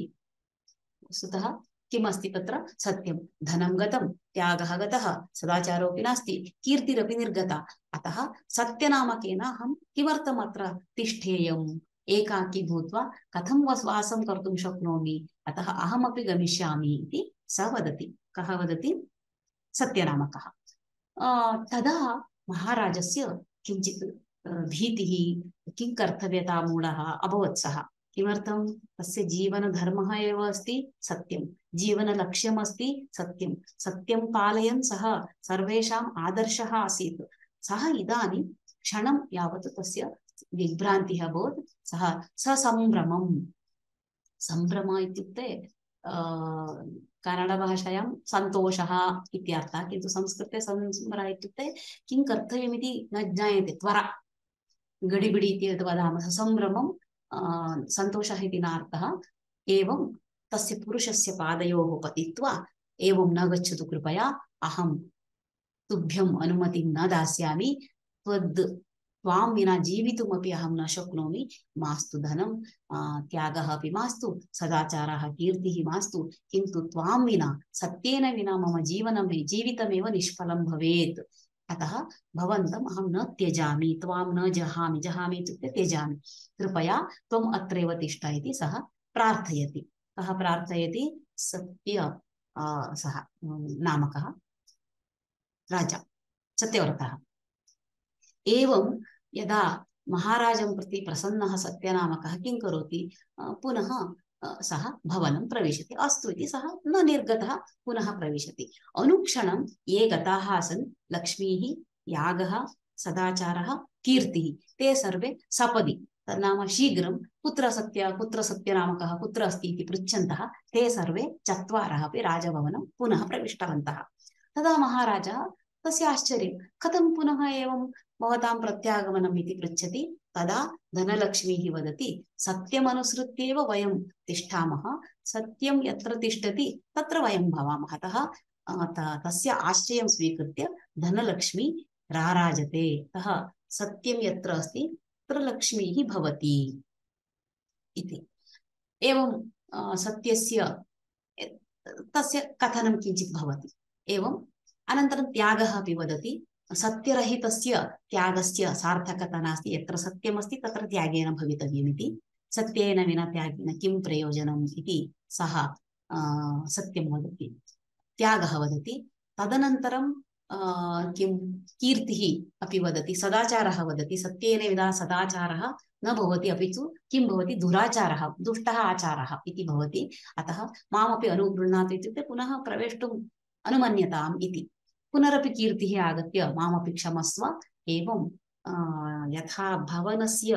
वस्तुतः किमस्ति तत्र, सत्यं, धनं गतं, त्यागः गतः, सदाचारोऽपि नास्ति, कीर्तिरपि निर्गता। अतः सत्यनामकेन अहं किमर्थम् अत्र तिष्ठेयम्, एकाकी भूत्वा कथं वासं कर्तुं शक्नोमि, अतः अहमपि गमिष्यामि इति सः वदति। कः वदति? सत्यनामकः। तदा महाराजस्य किञ्चित् भीतिः, किं कर्तव्यता मूढः अभवत् सः। किमर्थं? तस्य जीवनधर्मः एव अस्ति सत्यं, जीवनलक्ष्यम् अस्ति सत्यं, सत्यं पालयन् सः सर्वेषाम् आदर्शः आसीत्। सः इदानीं क्षणं यावत् तस्य विभ्रान्तिः अभवत्। सः ससम्भ्रमम्, सम्भ्रम इत्युक्ते कन्नडभाषायां सन्तोषः इत्यर्थः, किन्तु संस्कृते सम्भ्रमः इत्युक्ते किं कर्तव्यमिति न ज्ञायते, त्वरा गडिबिडि इति यद् वदामः, सम्भ्रमं सन्तोषः इति नार्थः। एवं तस्य पुरुषस्य पादयोः पतित्वा, एवं न गच्छतु कृपया, अहं तुभ्यम् अनुमतिं न दास्यामि, त्वां विना जीवितुमपि अहं न शक्नोमि, मास्तु धनं, त्यागः अपि मास्तु, सदाचारः कीर्तिः मास्तु, किन्तु त्वां विना, सत्येन विना मम जीवितमेव निष्फलं भवेत्। अतः भवन्तम् अहं न त्यजामि, त्वां न जहामि, जहामि इत्युक्ते त्यजामि, कृपया त्वम् अत्रैव तिष्ठ इति सः प्रार्थयति। कः प्रार्थयति? सः नामकः राजा, सत्यव्रतः। एवं यदा महाराजं प्रति प्रसन्नः सत्यनामकः किं करोति? पुनः सः भवनं प्रविशति। अस्तु इति सः न निर्गतः, पुनः प्रविशति। अनुक्षणं ये गताः आसन्, लक्ष्मीः, यागः, सदाचारः, कीर्तिः, ते सर्वे सपदि, तन्नाम शीघ्रं कुत्र सत्यनामकः कुत्र अस्ति इति पृच्छन्तः ते सर्वे चत्वारः अपि राजभवनं पुनः प्रविष्टवन्तः। तदा महाराजः, तस्य आश्चर्यं, कथं पुनः एवं भवतां प्रत्यागमनम् इति पृच्छति। तदा धनलक्ष्मीः वदति, सत्यमनुसृत्येव वयं तिष्ठामः, सत्यं यत्र तिष्ठति तत्र वयं भवामः। अतः तस्य आश्रयं स्वीकृत्य धनलक्ष्मी राराजते। अतः सत्यं यत्र अस्ति तत्र लक्ष्मीः भवति इति। एवं सत्यस्य तस्य कथनं किञ्चित् भवति। एवं अनन्तरं त्यागः अपि वदति, सत्यरहितस्य त्यागस्य सार्थकता नास्ति, यत्र सत्यमस्ति तत्र त्यागेन भवितव्यमिति, सत्येन विना त्यागेन किं प्रयोजनम् इति सः सत्यं वदति, त्यागः वदति। तदनन्तरं किं कीर्तिः अपि वदति, सदाचारः वदति, सत्येन विना सदाचारः न भवति, अपि तु किं भवति? दुराचारः, दुष्टः आचारः इति भवति। अतः मामपि अनुगृह्णातु इत्युक्ते पुनः प्रवेष्टुम् अनुमन्यताम् इति। पुनरपि कीर्तिः आगत्य मामपि क्षमस्व, एवं यथा भवनस्य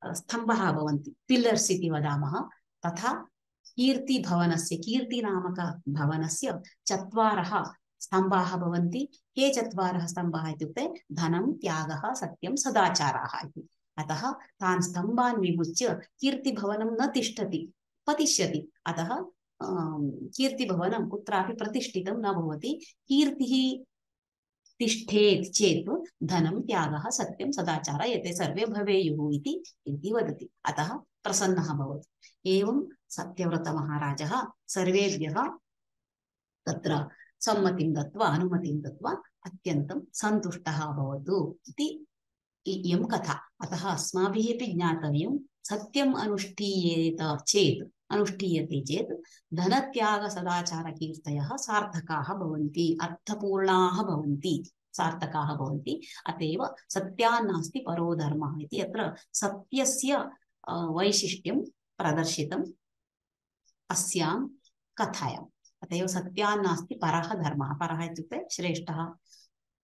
स्तम्भः भवन्ति, पिल्लर्स् इति वदामः, तथा कीर्तिभवनस्य, कीर्तिनामक भवनस्य चत्वारः स्तम्भाः भवन्ति। के चत्वारः स्तम्भाः इत्युक्ते धनं, त्यागः, सत्यं, सदाचाराः इति। अतः तान् स्तम्भान् विमुच्य कीर्तिभवनं न तिष्ठति, पतिष्यति। अतः कीर्तिभवनं कुत्रापि प्रतिष्ठितं न भवति। कीर्तिः तिष्ठेत् चेत् धनं, त्यागः, सत्यं, सदाचारः एते सर्वे भवेयुः इति वदति। अतः प्रसन्नः भवति। एवं सत्यव्रतमहाराजः सर्वेभ्यः तत्र सम्मतिं दत्वा, अनुमतिं दत्वा अत्यन्तं सन्तुष्टः अभवत् इति इयं कथा। अतः अस्माभिः अपि ज्ञातव्यं, सत्यम् अनुष्ठीयते चेत् धनत्याग सदाचार कीर्तयः सार्थकाः भवन्ति, अर्थपूर्णाः भवन्ति, सार्थकाः भवन्ति। अतएव सत्यान्नास्ति परो धर्मः इति अत्र सत्यस्य वैशिष्ट्यं प्रदर्शितम् अस्यां कथायाम्। अतएव सत्यान्नास्ति परः धर्मः, परः इत्युक्ते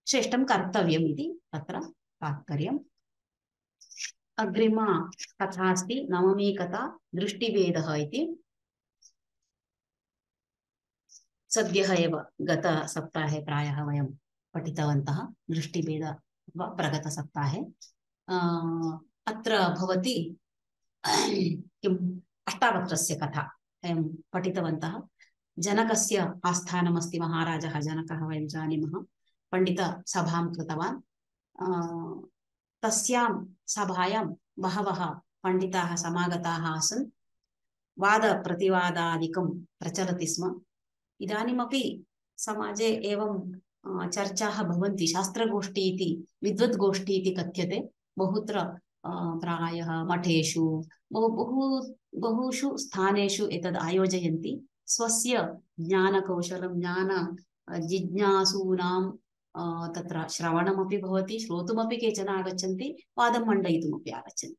श्रेष्ठं कर्तव्यम् इति तत्र तात्पर्यम्। अग्रिमा कथा अस्ति, नवमी कथा, दृष्टिभेदः इति। सद्यः एव गतसप्ताहे प्रायः वयं पठितवन्तः, दृष्टिभेद वा प्रगतसप्ताहे। अत्र भवति किम्, अष्टावक्रस्य कथा वयं पठितवन्तः। जनकस्य आस्थानमस्ति, महाराजः जनकः वयं जानीमः, पण्डितसभां कृतवान्। तस्यां सभायां बहवः पण्डिताः समागताः आसन्। वादप्रतिवादादिकं प्रचलति स्म। इदानीमपि समाजे एवं चर्चाः भवन्ति, शास्त्रगोष्ठी इति, विद्वद्गोष्ठी इति कथ्यते। बहुत्र प्रायः मठेषु बहुषु स्थानेषु एतद् आयोजयन्ति। स्वस्य ज्ञानकौशलं, ज्ञान जिज्ञासूनां तत्र श्रवणमपि भवति, श्रोतुमपि केचन आगच्छन्ति, वादं मण्डयितुमपि आगच्छन्ति।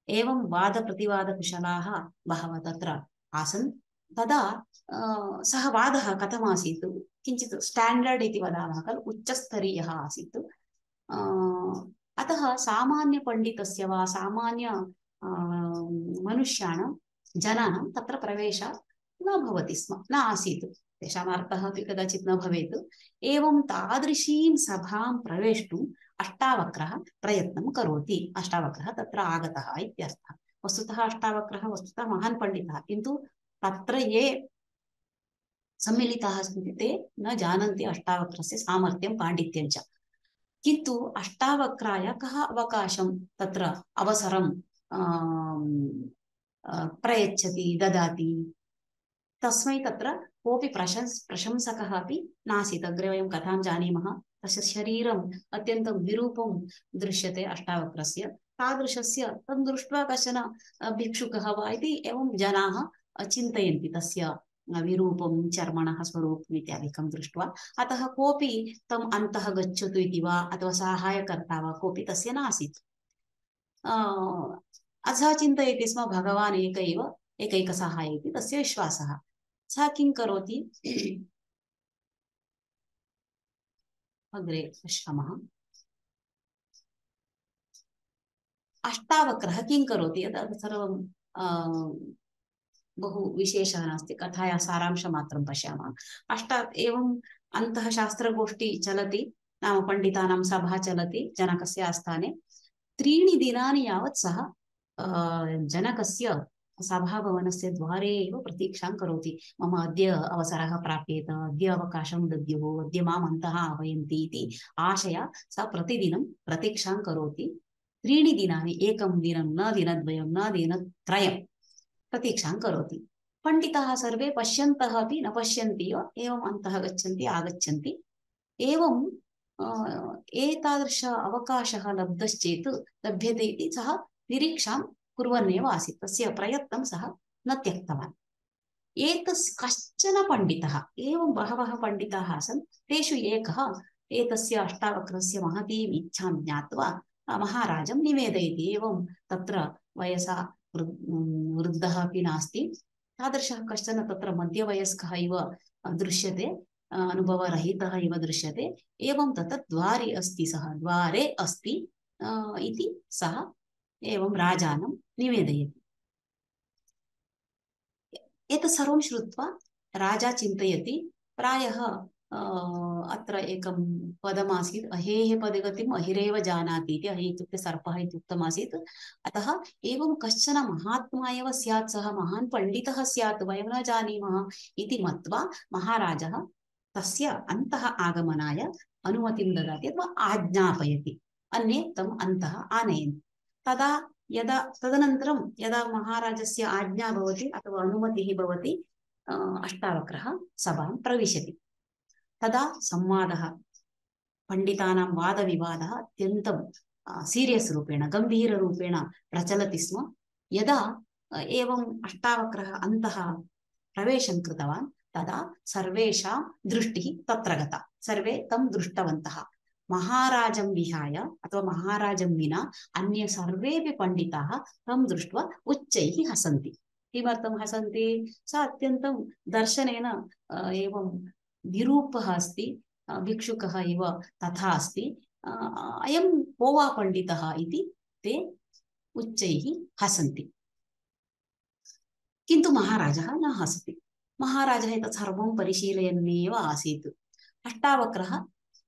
एवं वादप्रतिवादकुशलाः बहवः तत्र आसन्। तदा सः वादः कथमासीत्, किञ्चित् स्टाण्डर्ड् इति वदामः खलु, उच्चस्तरीयः आसीत्। अतः सामान्यपण्डितस्य वा सामान्य मनुष्याणां जनानां तत्र प्रवेशः न भवति स्म, न आसीत्, तेषाम् अर्थः अपि कदाचित् न भवेत्। एवं तादृशीं सभां प्रवेष्टुम् अष्टावक्रः प्रयत्नं करोति। अष्टावक्रः तत्र आगतः इत्यर्थः। वस्तुतः अष्टावक्रः वस्तुतः महान् पण्डितः, किन्तु तत्र ये सम्मिलिताः सन्ति ते न जानन्ति अष्टावक्रस्य सामर्थ्यं पाण्डित्यं च। किन्तु अष्टावक्राय कः अवकाशं तत्र अवसरं प्रयच्छति, ददाति, तस्मै तत्र कोऽपि प्रशंसकः अपि नासीत्। अग्रे वयं कथां जानीमः, तस्य शरीरम् अत्यन्तं विरूपं दृश्यते अष्टावक्रस्य। तादृशस्य तं दृष्ट्वा कश्चन भिक्षुकः वा इति एवं जनाः चिन्तयन्ति, तस्य विरूपं, चर्मणः स्वरूपम् इत्यादिकं दृष्ट्वा। अतः कोऽपि तम् अन्तः गच्छतु इति वा अथवा साहाय्यकर्ता वा कोऽपि तस्य नासीत्। सः चिन्तयति स्म भगवान् एकैकसहाय इति तस्य विश्वासः। सः किं करोति, अग्रे पश्यामः। अष्टावक्रः किं करोति, यत् सर्वं बहु विशेषः नास्ति, कथायाः सारांशमात्रं पश्यामः। एवं अन्तः शास्त्रगोष्ठी चलति, नाम पण्डितानां सभा चलति जनकस्य आस्थाने। 3 दिनानि यावत् सः जनकस्य सभाभवनस्य द्वारे एव प्रतीक्षां करोति। मम अद्य अवसरः प्राप्येत, अद्य अवकाशं दद्युः, अद्य माम् अन्तः आह्वयन्ति इति आशया सः प्रतिदिनं प्रतीक्षां करोति। 3 दिनानि, एकं दिनं न, दिनद्वयं न, दिनत्रयं प्रतीक्षां करोति। पण्डिताः सर्वे पश्यन्तः अपि न पश्यन्ति एवम् अन्तः गच्छन्ति आगच्छन्ति। एवं एतादृश अवकाशः लब्धश्चेत् लभ्यते इति सः निरीक्षां कुर्वन्नेव आसीत्। तस्य प्रयत्नं सः न त्यक्तवान्। कश्चन पण्डितः, एवं बहवः पण्डिताः आसन्, तेषु एकः एतस्य अष्टावक्रस्य महतीम् इच्छां ज्ञात्वा महाराजं निवेदयति। एवं तत्र वयसा वृद्धः अपि नास्ति, तादृशः कश्चन तत्र मध्यवयस्कः इव दृश्यते, अनुभवरहितः इव दृश्यते। एवं तत्र द्वारे अस्ति, सः द्वारे अस्ति इति सः एवं राजानं निवेदयति। एतत् सर्वं श्रुत्वा राजा चिन्तयति, प्रायः अत्र एकं पदमासीत्, अहेः पदगतिम् अहिरेव जानाति इति। अहि इत्युक्ते सर्पः इति उक्तमासीत्। अतः एवं कश्चन महात्मा एव स्यात्, सः महान् पण्डितः स्यात्, वयं न जानीमः इति मत्वा महाराजः तस्य अन्तः आगमनाय अनुमतिं ददाति अथवा आज्ञापयति, अन्ये तम् अन्तः आनयन्ति। तदनन्तरं यदा महाराजस्य आज्ञा भवति अथवा अनुमतिः भवति, अष्टावक्रः सभां प्रविशति। तदा संवादः, पण्डितानां वादविवादः अत्यन्तं सीरियस् रूपेण, गम्भीररूपेण प्रचलति स्म। यदा एवं अष्टावक्रः अन्तः प्रवेशं कृतवान्, तदा सर्वेषां दृष्टिः तत्र गता। सर्वे तं दृष्टवन्तः। महाराजं विहाय अथवा महाराजं विना अन्ये सर्वेपि पण्डिताः तं दृष्ट्वा उच्चैः हसन्ति। किमर्थं हसन्ति? सः अत्यन्तं दर्शनेन एवं विरूपः अस्ति, भिक्षुकः इव तथा अस्ति, अयं को वा पण्डितः इति ते उच्चैः हसन्ति। किन्तु महाराजः न हसति। महाराजः एतत् सर्वं परिशीलयन्नेव आसीत्। अष्टावक्रः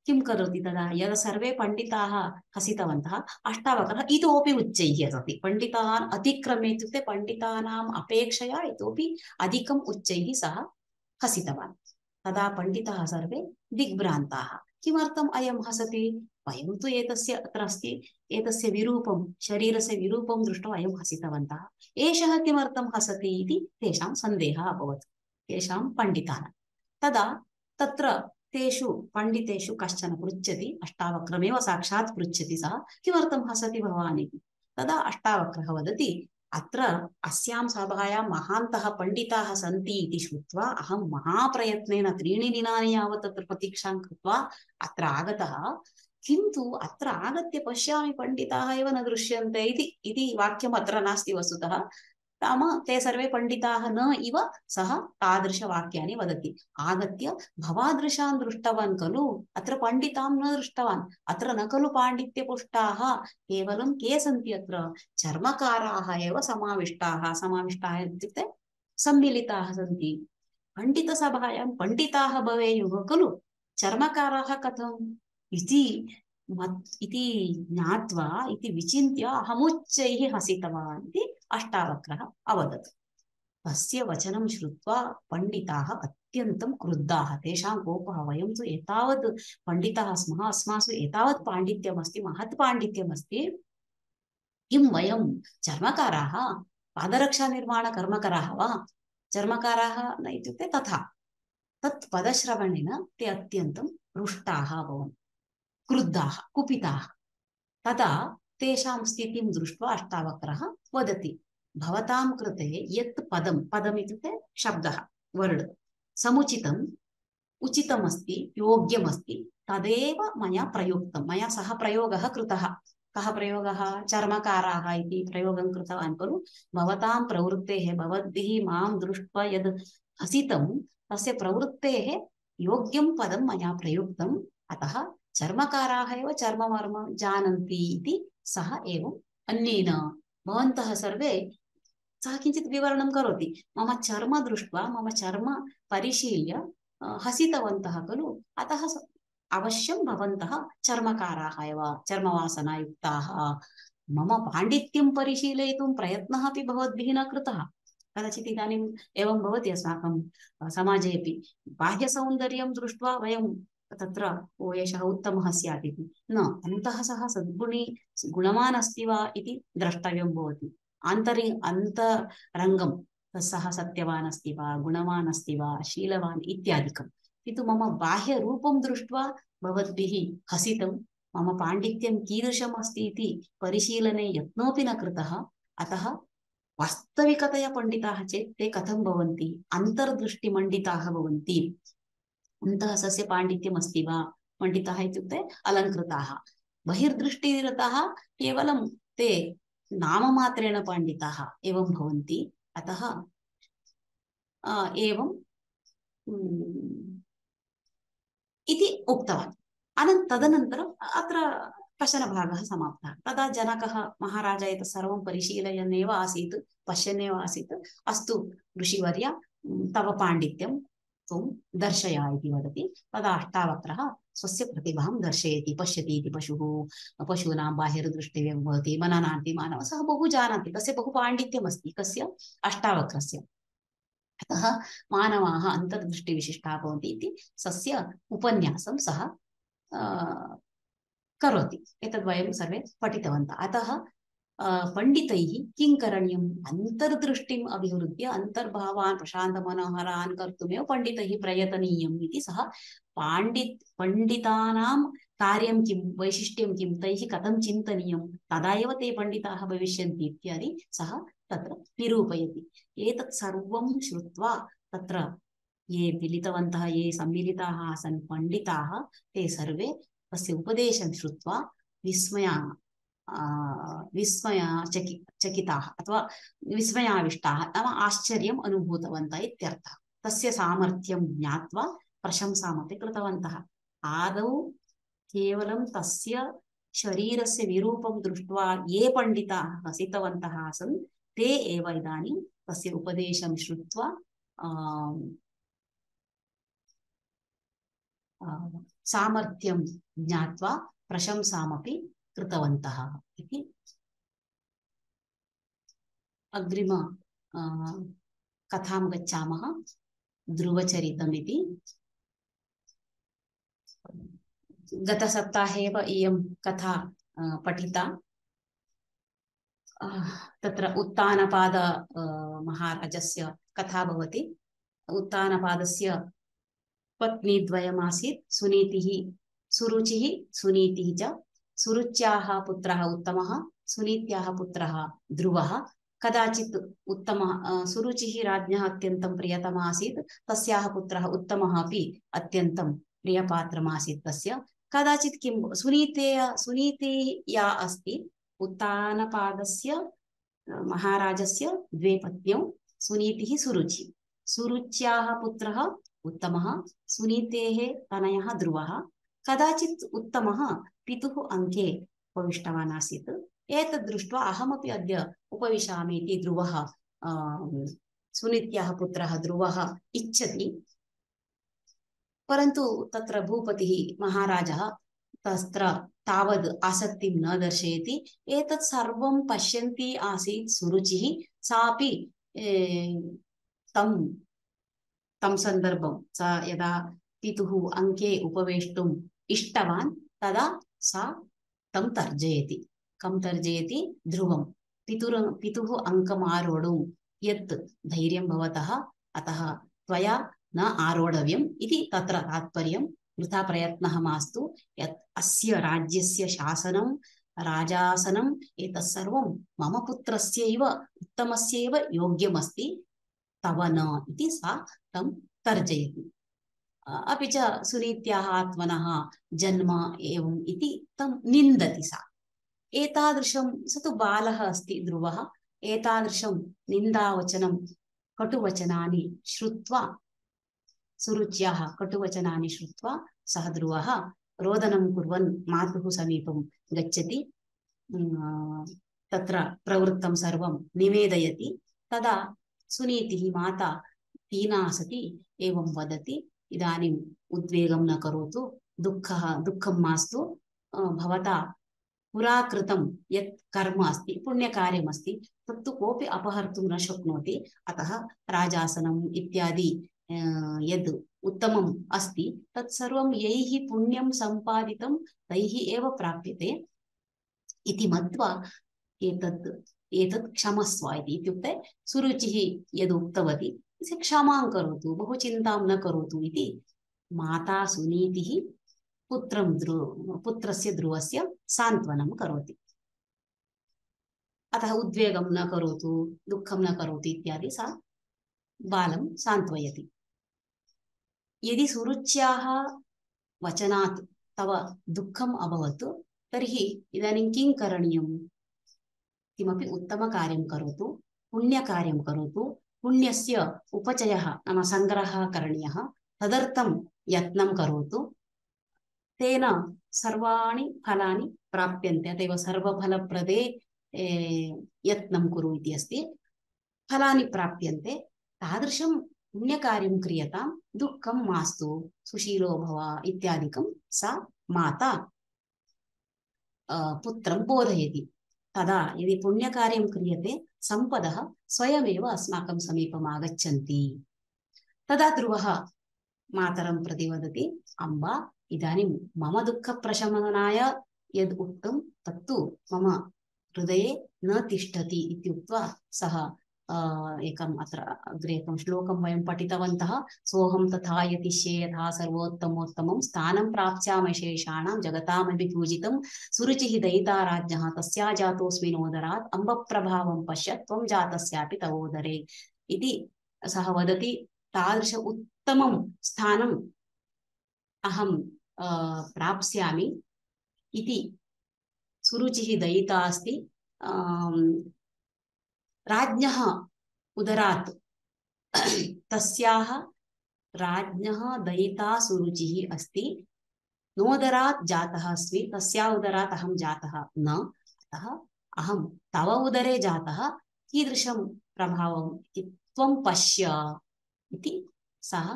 किं करोति तदा? यदा सर्वे पण्डिताः हसितवन्तः, अष्टावक्रः इतोपि उच्चैः हसति। पण्डितान् अतिक्रम्य, इत्युक्ते पण्डितानाम् अपेक्षया इतोपि अधिकम् उच्चैः सः हसितवान्। तदा पण्डिताः सर्वे दिग्भ्रान्ताः। किमर्थम् अयं हसति? वयं तु एतस्य अत्र अस्ति, एतस्य विरूपं, शरीरस्य विरूपं दृष्ट्वा अयं हसितवन्तः, एषः किमर्थं हसति इति तेषां सन्देहः अभवत्, तेषां पण्डितानां। तदा तत्र तेषु पण्डितेषु कश्चन पृच्छति, अष्टावक्रमेव साक्षात् पृच्छति, सः किमर्थं हसति भवान् इति। तदा अष्टावक्रः वदति, अत्र अस्यां सभायां महान्तः पण्डिताः सन्ति इति श्रुत्वा अहं महाप्रयत्नेन 3 दिनानि यावत् तत्र प्रतीक्षां कृत्वा अत्र आगतः। किन्तु अत्र आगत्य पश्यामि पण्डिताः एव न दृश्यन्ते इति वाक्यम् अत्र नास्ति वस्तुतः। नाम ते सर्वे पण्डिताः न इव सः तादृशवाक्यानि वदति। आगत्य भवादृशान् दृष्टवान् खलु, अत्र पण्डितां न दृष्टवान्, अत्र न खलु पाण्डित्यपुष्टाः, केवलं के सन्ति अत्र चर्मकाराः एव समाविष्टाः इत्युक्ते सम्मिलिताः सन्ति। पण्डितसभायां पण्डिताः भवेयुः खलु, चर्मकाराः कथम् इति ज्ञात्वा इति विचिन्त्य अहमुच्चैः हसितवान् इति अष्टावक्रः अवदत्। तस्य वचनं श्रुत्वा पण्डिताः अत्यन्तं क्रुद्धाः। तेषां कोपः, वयं तु एतावत् पण्डिताः स्मः, अस्मासु एतावत् पाण्डित्यमस्ति, महत् पाण्डित्यमस्ति, किं वयं चर्मकाराः, पादरक्षानिर्माणकर्मकराः वा? चर्मकाराः न इत्युक्ते तथा। तत् पदश्रवणेन ते अत्यन्तं रुष्टाः अभवन्, क्रुद्धाः, कुपिताः। तदा तेषां स्थितिं दृष्ट्वा अष्टावक्रः वदति, भवतां कृते यत् पदम् इत्युक्ते शब्दः, वर्ड्, समुचितम्, उचितमस्ति, योग्यमस्ति, तदेव मया प्रयुक्तं, मया सः प्रयोगः कृतः। कः प्रयोगः? चर्मकाराः इति प्रयोगं कृतवान् खलु। भवतां प्रवृत्तेः, भवद्भिः मां दृष्ट्वा यद् हसितं, तस्य प्रवृत्तेः योग्यं पदं मया प्रयुक्तम्, अतः चर्मकाराः एव चर्ममर्म जानन्ति इति सः एवम् अन्येन भवन्तः सर्वे, सः किञ्चित् विवरणं करोति, मम चर्म दृष्ट्वा, मम चर्म परिशील्य हसितवन्तः खलु, अतः अवश्यं भवन्तः चर्मकाराः एव, चर्मवासनायुक्ताः। मम पाण्डित्यं परिशीलयितुं प्रयत्नः अपि भवद्भिः न कृतः। कदाचित् इदानीम् एवं भवति अस्माकं समाजेपि, बाह्यसौन्दर्यं दृष्ट्वा वयं तत्र ओ एषः उत्तमः स्यात् इति न, अन्तः सः सद्गुणी गुणवान् अस्ति वा इति द्रष्टव्यं भवति। अन्तरङ्गं सः सत्यवान् अस्ति वा, गुणवान् अस्ति वा, शीलवान् इत्यादिकं। किन्तु मम बाह्यरूपं दृष्ट्वा भवद्भिः हसितं, मम पाण्डित्यं कीदृशम् अस्ति इति परिशीलने यत्नोऽपि न कृतः। अतः वास्तविकतया पण्डिताः चेत् ते कथं भवन्ति? अन्तर्दृष्टिमण्डिताः भवन्ति। अन्तः सस्य पाण्डित्यम् अस्ति वा? पण्डिताः इत्युक्ते अलङ्कृताः। बहिर्दृष्टिरतः केवलं ते नाममात्रेण पण्डिताः एवं भवन्ति। अतः एवं इति उक्तवान्। तदनन्तरम् अत्र कश्चन भागः समाप्तः। तदा जनकः महाराज एतत् सर्वं परिशीलयन् एव आसीत्, पश्यन् एव आसीत्। अस्तु ऋषिवर्य, तव पाण्डित्यं त्वं दर्शय इति वदति। तदा अष्टावक्रः स्वस्य प्रतिभां दर्शयति, पश्यति इति पशूनां बाहिर्दृष्टिः भवति, मननाति मानवः, सः बहु जानाति, तस्य बहु पाण्डित्यमस्ति, कस्य? अष्टावक्रस्य। अतः मानवाः अन्तर्दृष्टिविशिष्टाः भवन्ति इति स्वस्य उपन्यासं सः करोति। एतद् वयं सर्वे पठितवन्तः। अतः पण्डितैः किं करणीयम्? अन्तर्दृष्टिम् अभिवृद्ध्य अन्तर्भावान् प्रशान्तमनोहरान् कर्तुमेव पण्डितैः प्रयतनीयम् इति सः पण्डितानां कार्यं किं, वैशिष्ट्यं किं, तैः कथं चिन्तनीयं, तदा एव ते पण्डिताः भविष्यन्ति इत्यादि सः तत्र निरूपयति। एतत् सर्वं श्रुत्वा तत्र ये मिलितवन्तः, ये सम्मिलिताः आसन् पण्डिताः, ते सर्वे तस्य उपदेशं श्रुत्वा चकिताः अथवा विस्मयाविष्टाः, नाम आश्चर्यम् अनुभूतवन्तः इत्यर्थः। तस्य सामर्थ्यं ज्ञात्वा प्रशंसामपि कृतवन्तः। आदौ केवलं तस्य शरीरस्य विरूपं दृष्ट्वा ये पण्डिताः हसितवन्तः आसन्, ते एव इदानीं तस्य उपदेशं श्रुत्वा सामर्थ्यं ज्ञात्वा प्रशंसामपि कृतवन्तः इति। अग्रिम कथां गच्छामः, ध्रुवचरितमिति। गतसप्ताहे एव इयं कथा पठिता। तत्र उत्तानपाद महाराजस्य कथा भवति। उत्तानपादस्य पत्नीद्वयमासीत्, सुनीतिः, सुरुचिः, सुनीतिः च। सुरुच्याः पुत्रः उत्तमः, सुनीत्याः पुत्रः ध्रुवः। कदाचित् सुरुचिः राज्ञः अत्यन्तं प्रियतमः आसीत्, तस्याः पुत्रः उत्तमः अपि अत्यन्तं प्रियपात्रमासीत् तस्य। कदाचित् किं सुनीति या अस्ति, उत्तानपादस्य महाराजस्य द्वे पत्न्यौ, सुनीतिः सुरुचि। सुरुच्याः पुत्रः उत्तमः, सुनीतेः तनयः ध्रुवः। कदाचित् उत्तमः पितुः अङ्के उपविष्टवान् आसीत्। एतद् दृष्ट्वा अहमपि अद्य उपविशामि इति ध्रुवः, सुनीत्याः पुत्रः ध्रुवः इच्छति। परन्तु तत्र भूपतिः महाराजः तत्र तावद् आसक्तिं न दर्शयति। एतत् सर्वं पश्यन्ती आसीत् सुरुचिः। सापि तं सन्दर्भं सा यदा पितुः अङ्के उपवेष्टुम् इष्टवान्, तदा सा तं तर्जयति। कं तर्जयति? ध्रुवं। पितुः अङ्कम् आरोढुं यत् धैर्यं भवतः, अतः त्वया न आरोढव्यम् इति तत्र तात्पर्यं। वृथा प्रयत्नः मास्तु। यत् अस्य राज्यस्य शासनं, राजासनम् एतत् सर्वं मम पुत्रस्यैव उत्तमस्यैव योग्यमस्ति, तव न इति सा तं तर्जयति। अपि च सुनीत्याः आत्मनः जन्म एवम् इति तं निन्दति सा। एतादृशं, स तु बालः अस्ति ध्रुवः, एतादृशं निन्दावचनं कटुवचनानि श्रुत्वा, सुरुच्याः कटुवचनानि श्रुत्वा सः ध्रुवः रोदनं कुर्वन् मातुः समीपं गच्छति। तत्र प्रवृत्तं सर्वं निवेदयति। तदा सुनीतिः माता दीना सती एवं वदति, इदानीम् उद्वेगं न करोतु, दुःखं मास्तु। भवता पुरा कृतं यत् कर्म अस्ति, पुण्यकार्यमस्ति, तत्तु कोऽपि अपहर्तुं न शक्नोति। अतः राजासनम् इत्यादि यद् उत्तमम् अस्ति, तत्सर्वं यैः पुण्यं सम्पादितं तैः एव प्राप्यते इति मत्वा एतत् क्षमस्व इति। इत्युक्ते सुरुचिः यद् उक्तवती, क्षमां करोतु, बहु चिन्तां न करोतु इति माता सुनीतिः पुत्रस्य ध्रुवस्य सान्त्वनं करोति। अतः उद्वेगं न करोतु, दुःखं न करोतु इत्यादि सा बालं सान्त्वयति। यदि सुरुच्याः वचनात् तव दुःखम् अभवत्, तर्हि इदानीं किं करणीयम्? किमपि उत्तमकार्यं करोतु, पुण्यकार्यं करोतु। पुण्यस्य उपचयः नाम सङ्ग्रहः करणीयः, तदर्थं यत्नं करोतु। तेन सर्वाणि फलानि प्राप्यन्ते। अतएव सर्वफलप्रदे यत्नं कुरु इति अस्ति। फलानि प्राप्यन्ते। तादृशं पुण्यकार्यं क्रियतां, दुःखं मास्तु, सुशीलो भव इत्यादिकं सा माता पुत्रं बोधयति। तदा यदि पुण्यकार्यं क्रियते, सम्पदः स्वयमेव अस्माकं समीपम् आगच्छन्ति। तदा ध्रुवः मातरं प्रति वदति, अम्बा, इदानीं मम दुःखप्रशमनाय यद् उक्तं तत्तु मम हृदये न तिष्ठति इत्युक्त्वा सः एकम् अत्र अग्रे एकं श्लोकं वयं पठितवन्तः। सोऽहं तथा यतिष्ये यथा सर्वोत्तमोत्तमं स्थानं प्राप्स्यामशेषाणां जगतामपि पूजितं सुरुचिः दयिता राज्ञः तस्या जातोऽस्मि नोदरात् अम्बप्रभावं पश्य त्वं जातस्यापि तवोदरे इति सः वदति। तादृश उत्तमं स्थानम् अहं प्राप्स्यामि इति सुरुचिः दयिता अस्ति। राज्ञः उदरात् तस्याः राज्ञः दयिता सुरुचिः अस्ति। नोदरात् जातः अस्मि, तस्या उदरात् अहं जातः न, अतः अहं तव उदरे जातः। कीदृशं प्रभावम् इति त्वं पश्य इति सः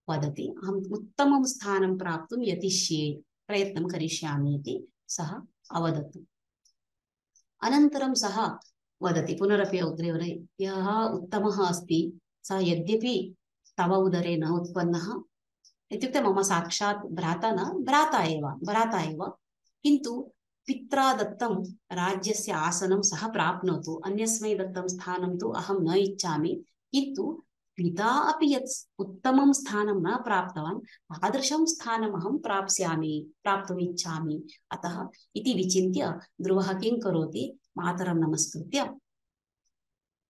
वदति। अहम् उत्तमं स्थानं प्राप्तुं यतिष्ये, प्रयत्नं करिष्यामि इति सः अवदत्। अनन्तरं सः वदति पुनरपि अग्रे, यः उत्तमः अस्ति सः यद्यपि तव उदरे न उत्पन्नः, इत्युक्ते मम साक्षात् भ्राता न, भ्राता एव, किन्तु पित्रा दत्तं राज्यस्य आसनं सः प्राप्नोतु, अन्यस्मै दत्तं स्थानं तु अहं न इच्छामि, किन्तु पिता अपि यत् उत्तमं स्थानं न प्राप्तवान्, तादृशं स्थानम् अहं प्राप्तुम् इच्छामि। अतः इति विचिन्त्य ध्रुवः किं करोति, मातरं नमस्कृत्य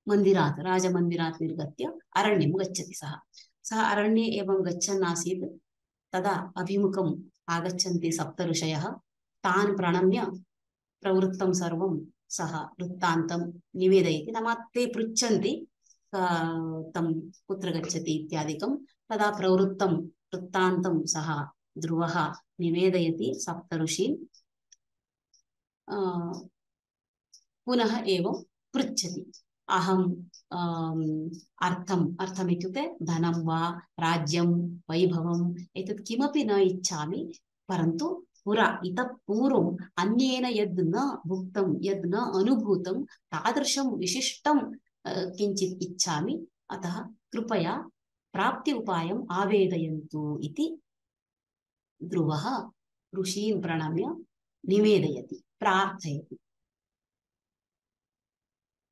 मन्दिरात् राजमन्दिरात् निर्गत्य अरण्यं गच्छति सः। सः अरण्ये एवं गच्छन् आसीत्। तदा अभिमुखम् आगच्छन्ति सप्त ऋषयः। तान् प्रणम्य प्रवृत्तं सर्वं सः वृत्तान्तं निवेदयति। नाम ते पृच्छन्ति तं कुत्र गच्छति इत्यादिकं। तदा प्रवृत्तं वृत्तान्तं सः ध्रुवः निवेदयति सप्त ऋषीन्। पुनः एवं पृच्छति, अहम् अर्थम् इत्युक्ते धनं वा राज्यं वैभवम् एतत् किमपि न इच्छामि, परन्तु पुरा इतः पूर्वम् अन्येन यद् न भुक्तं यद् न अनुभूतं तादृशं विशिष्टं किञ्चित् इच्छामि। अतः कृपया प्राप्ति उपायम् आवेदयन्तु इति ध्रुवः ऋषीन् प्रणम्य निवेदयति, प्रार्थयति।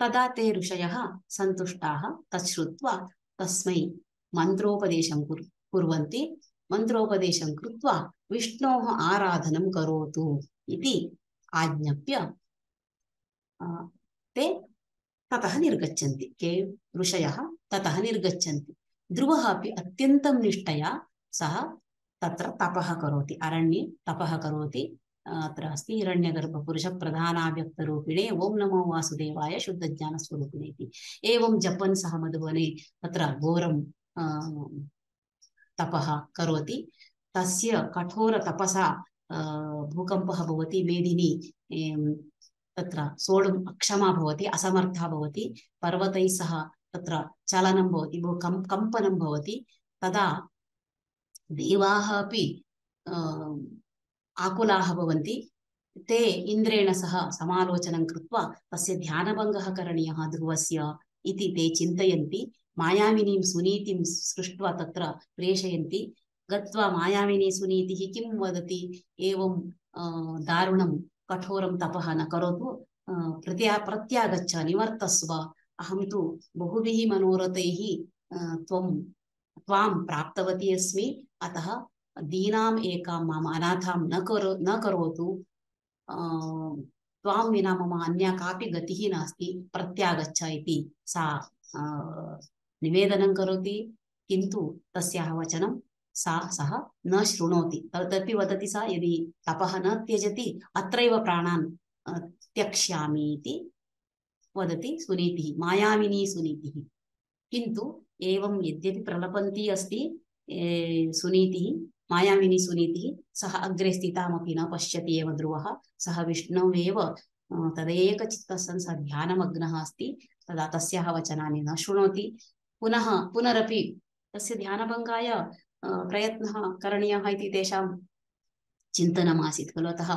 तदा ते ऋषयः सन्तुष्टाः तच्छ्रुत्वा तस्मै मन्त्रोपदेशं कुर्वन्ति। मन्त्रोपदेशं कृत्वा विष्णोः आराधनं करोतु इति आज्ञाप्य ते ततः निर्गच्छन्ति। के ऋषयः ततः निर्गच्छन्ति। ध्रुवः अपि अत्यन्तं निष्ठया सः तत्र तपः करोति, अरण्ये तपः करोति। अत्र अस्ति हिरण्यगर्भपुरुषप्रधानाव्यक्तरूपिणे ओं नमो वासुदेवाय शुद्धज्ञानस्वरूपिणे इति। एवं जपन् सः मधुवने तत्र घोरं तपः करोति। तस्य कठोर तपसा भूकम्पः भवति। मेदिनी तत्र सोढुम् अक्षमा भवति, असमर्था भवति। पर्वतैः सह तत्र चलनं भवति, कम्पनं भवति। तदा देवाः अपि आकुलाः भवन्ति। ते इन्द्रेण सह समालोचनं कृत्वा तस्य ध्यानभङ्गः करणीयः ध्रुवस्य इति ते चिन्तयन्ति। मायाविनीं सुनीतिं सृष्ट्वा तत्र प्रेषयन्ति। गत्वा मायाविनी सुनीतिः किं वदति, एवं दारुणं कठोरं तपः न करोतु, प्रत्यागच्छ, निवर्तस्व। अहं तु बहुभिः मनोरथैः त्वां प्राप्तवती अस्मि। अतः दीनाम् एकां माम अनाथां न करोतु। त्वां विना मम अन्या कापि गतिः नास्ति, प्रत्यागच्छ इति सा निवेदनं करोति। किन्तु तस्याः वचनं सः न शृणोति। तदपि वदति सा, यदि तपः न त्यजति अत्रैव प्राणान् त्यक्ष्यामि इति वदति सुनीतिः, मायाविनी सुनीतिः। किन्तु एवं यद्यपि प्रलपन्ती अस्ति सुनीतिः, मायाविनी सुनीतिः, सः अग्रे स्थितामपि न पश्यति एव ध्रुवः। सः विष्णुवेव तदेकचित्तः सन् सः ध्यानमग्नः अस्ति। तदा तस्याः वचनानि न शृणोति। पुनरपि तस्य ध्यानभङ्गाय प्रयत्नः करणीयः इति तेषां चिन्तनमासीत् खलु। अतः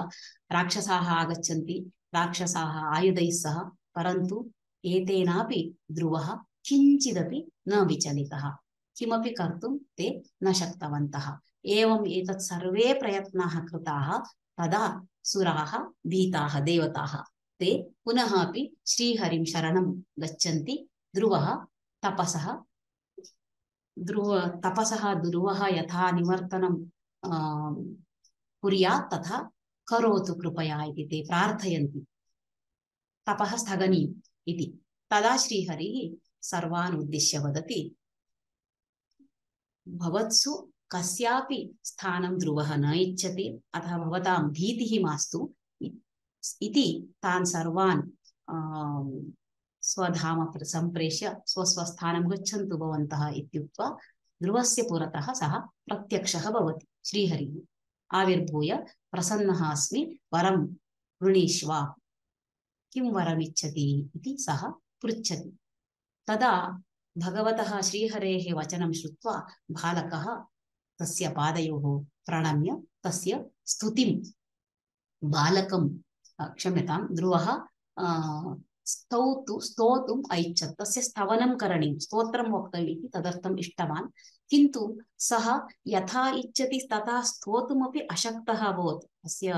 राक्षसाः आगच्छन्ति, राक्षसाः आयुधैः सह। परन्तु एतेनापि ध्रुवः किञ्चिदपि न विचलितः, किमपि कर्तुं ते न शक्तवन्तः। एवम् एतत् सर्वे प्रयत्नाः कृताः। तदा सुराः भीताः, देवताः, ते पुनः अपि श्रीहरिं शरणं गच्छन्ति। ध्रुवः तपसः ध्रुवः यथा निवर्तनं कुर्यात् तथा करोतु कृपया इति ते प्रार्थयन्ति। तपः स्थगनीयम् इति। तदा श्रीहरिः सर्वान् उद्दिश्य वदति, भवत्सु कस्यापि स्थानं ध्रुवः न इच्छति, अतः भवतां भीतिः मास्तु इति तान् सर्वान् स्वधाम सम्प्रेष्य स्वस्वस्थानं गच्छन्तु भवन्तः इत्युक्त्वा ध्रुवस्य पुरतः सः प्रत्यक्षः भवति। श्रीहरिः आविर्भूय, प्रसन्नः अस्मि, वरं वृणीष्व, किं वरमिच्छति इति सः पृच्छति। तदा भगवतः श्रीहरेः वचनं श्रुत्वा बालकः तस्य पादयोः प्रणम्य तस्य स्तुतिं बालकं क्षम्यतां ध्रुवः स्तोतुम् ऐच्छत्। तस्य स्तवनं करणीयं, स्तोत्रं वक्तव्यम् इति तदर्थम् इष्टवान्। किन्तु सः यथा इच्छति तथा स्तोतुमपि अशक्तः अभवत्। तस्य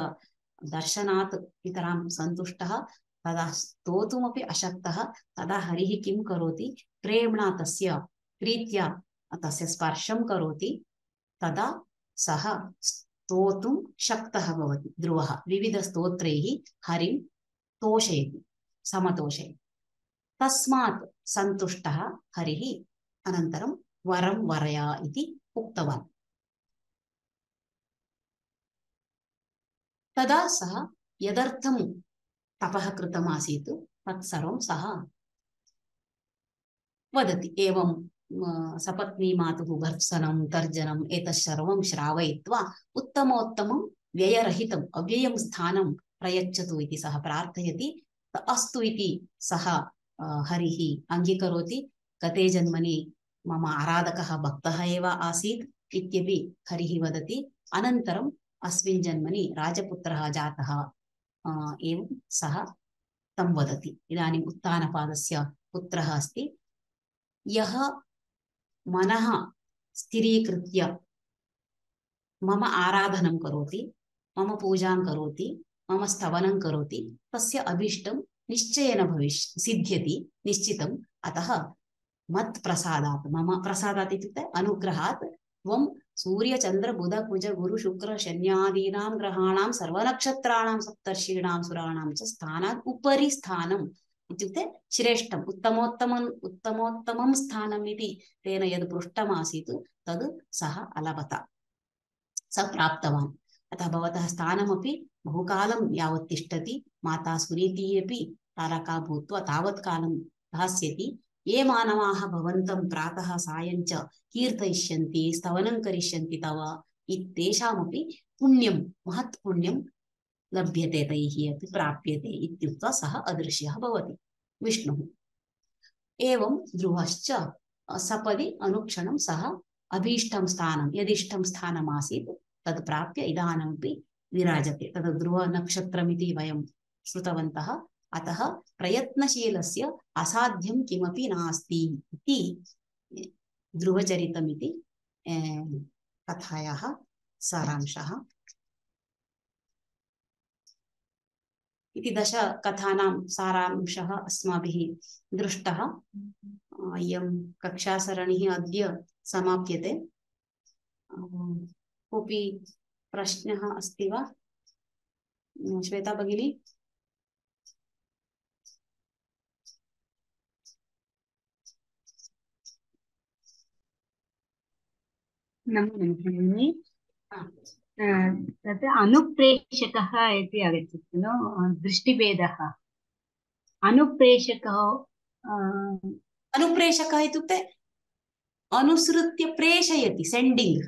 दर्शनात् पितरां सन्तुष्टः, तदा स्तोतुमपि अशक्तः। तदा हरिः किं करोति, प्रेम्णा तस्य प्रीत्या तस्य स्पर्शं करोति। तदा सः स्तोतुं शक्तः भवति। ध्रुवः विविधस्तोत्रैः हरिं तोषयति, समतोषयति। तस्मात् सन्तुष्टः हरिः अनन्तरं वरं वरय इति उक्तवान्। तदा सः यदर्थं तपः कृतम् आसीत् तत्सर्वं सः वदति। एवं सपत्नी मातुः भर्त्सनं तर्जनम् एतत् सर्वं श्रावयित्वा उत्तमोत्तमं व्ययरहितम् अव्ययं स्थानं प्रयच्छतु इति सः प्रार्थयति। अस्तु इति सः हरिः अङ्गीकरोति। गते जन्मनि मम आराधकः भक्तः एव आसीत् इत्यपि हरिः वदति। अनन्तरम् अस्मिन् जन्मनि राजपुत्रः जातः एवं सः तं वदति। इदानीम् उत्तानपादस्य पुत्रः अस्ति। यः मनः स्थिरीकृत्य मम आराधनं करोति, मम पूजां करोति, मम स्तवनं करोति, तस्य अभीष्टं निश्चयेन सिद्ध्यति निश्चितम्। अतः मत्प्रसादात्, मम प्रसादात् इत्युक्ते अनुग्रहात् त्वं सूर्यचन्द्र बुध कुज गुरु शुक्र शन्यादीनां ग्रहाणां सर्वनक्षत्राणां सप्तर्षीणां सुराणां च स्थानात् उपरि स्थानम् इत्युक्ते श्रेष्ठम् उत्तमोत्तमं स्थानम् इति तेन यद् पृष्टमासीत् तद् सः अलभत, सः प्राप्तवान्। अतः भवतः स्थानमपि बहुकालं यावत् तिष्ठति। माता सुनीतिः अपि तारका भूत्वा तावत् कालं दास्यति। ये मानवाः भवन्तं प्रातः सायं च कीर्तयिष्यन्ति, स्तवनं करिष्यन्ति तव, तेषामपि पुण्यं, महत् पुण्यं लभ्यते, तैः अपि प्राप्यते इत्युक्त्वा सः अदृश्यः भवति विष्णुः। एवं ध्रुवश्च सपदि अनुक्षणं सः अभीष्टं स्थानं, यदिष्टं स्थानमासीत् तद् प्राप्य इदानीमपि विराजते। तद् ध्रुवनक्षत्रमिति वयं श्रुतवन्तः। अतः प्रयत्नशीलस्य असाध्यं किमपि नास्ति इति ध्रुवचरितमिति कथायाः सारांशः। इति 10 कथानां सारांशः अस्माभिः दृष्टः। इयं कक्षासरणिः अद्य समाप्यते। कोऽपि प्रश्नः अस्ति वा? श्वेता भगिनी? नमो तत् अनुप्रेषकः इति आगच्छति खलु, दृष्टिभेदः। अनुप्रेषकः इत्युक्ते अनुसृत्य प्रेषयति, सेण्डिङ्ग्,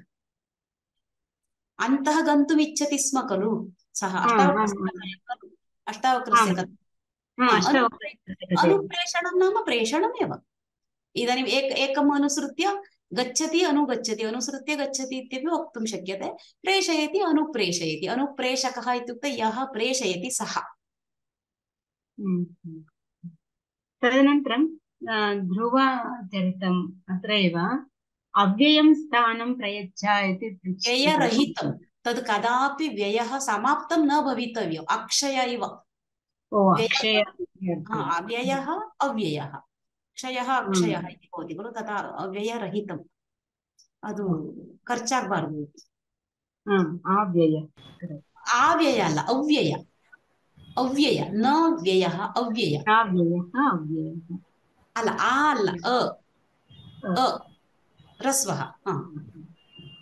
अन्तः गन्तुम् इच्छति स्म खलु सः। अष्टावक्रस्य अनुप्रेषणं नाम प्रेषणमेव। इदानीम् एकम् अनुसृत्य गच्छति, अनुगच्छति, अनुसृत्य गच्छति इत्यपि वक्तुं शक्यते। प्रेषयति, अनुप्रेषयति। अनुप्रेषकः इत्युक्ते यः प्रेषयति सः। तदनन्तरं ध्रुवचरितम् अत्र एव अव्ययं स्थानं प्रयच्छ इति व्ययरहितं, तद् कदापि व्ययः समाप्तं न भवितव्यम्, अक्षय इव। व्ययः अव्ययः, क्षयः अक्षयः इति भवति खलु, तथा अव्ययरहितम्, ಅದು ಖರ್ಚಾಗಬಾರದು। ಆವ್ಯಯ ಅಲ್ಲ, ಅವ್ಯಯ. ಅವ್ಯಯ, ನ ವ್ಯಯ, ಅವ್ಯಯ ಅಲ್ಲ, ಆ ಅಲ್ಲ, ಅ ರಸ್ವಃ।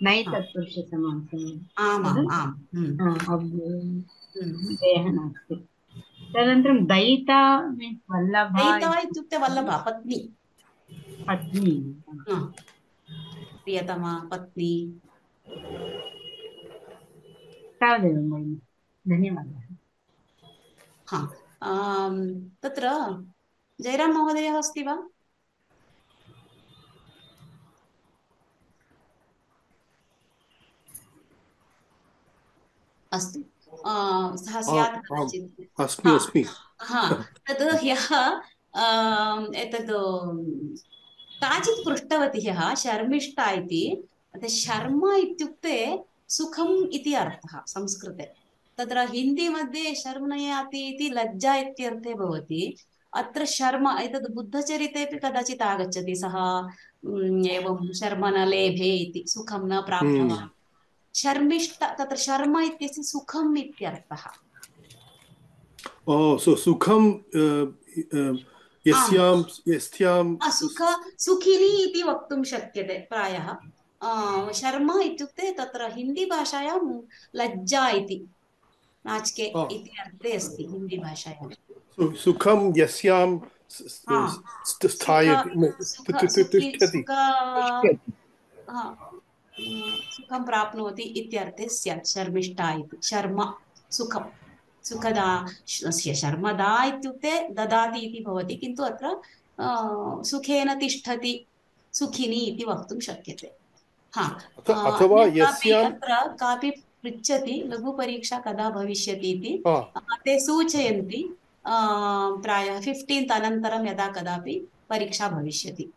नैतत्पुरुष समासः। आमाम् आम्। व्ययः नास्ति। तदनन्तरं दयिता मीन्स् वल्लभ। दयिता इत्युक्ते वल्लभ, पत्नी, प्रियतमा पत्नी। तावदेव, धन्यवादः। तत्र जयराम महोदयः अस्ति वा? अस्तु, सः स्यात् कदाचित्। तद् ह्यः एतद् काचित् पृष्टवती ह्यः, शर्मिष्ठा इति। शर्म इत्युक्ते सुखम् इति अर्थः संस्कृते। तत्र हिन्दी मध्ये शर्मयाति इति लज्जा इत्यर्थे भवति। अत्र शर्म एतद् बुद्धचरितेपि कदाचित् आगच्छति। सः एवं शर्म न लेभे इति, सुखं न प्राप्तवान्। शर्मिष्ठ, तत्र शर्म इत्यस्य सुखम् इत्यर्थः। So सुखं यस्यां यस्यां सुख सुखिनी इति वक्तुं शक्यते प्रायः। शर्मा इत्युक्ते तत्र हिन्दी भाषायां लज्जा इति, नाचिके इति अर्थे अस्ति हिन्दी भाषायां। सुखं यस्यां स्थायति तिष्ठति सुखं प्राप्नोति इत्यर्थे स्यात् शर्मिष्ठा इति। शर्मा सुखं सुखदा, शर्मदा इत्युक्ते ददाति इति भवति, किन्तु अत्र सुखेन तिष्ठति सुखिनी इति वक्तुं शक्यते। अथवा यस्यां अत्र कापि पृच्छति लघुपरीक्षा कदा भविष्यति इति, ते सूचयन्ति प्रायः 15th अनन्तरं यदा कदापि परीक्षा भविष्यति।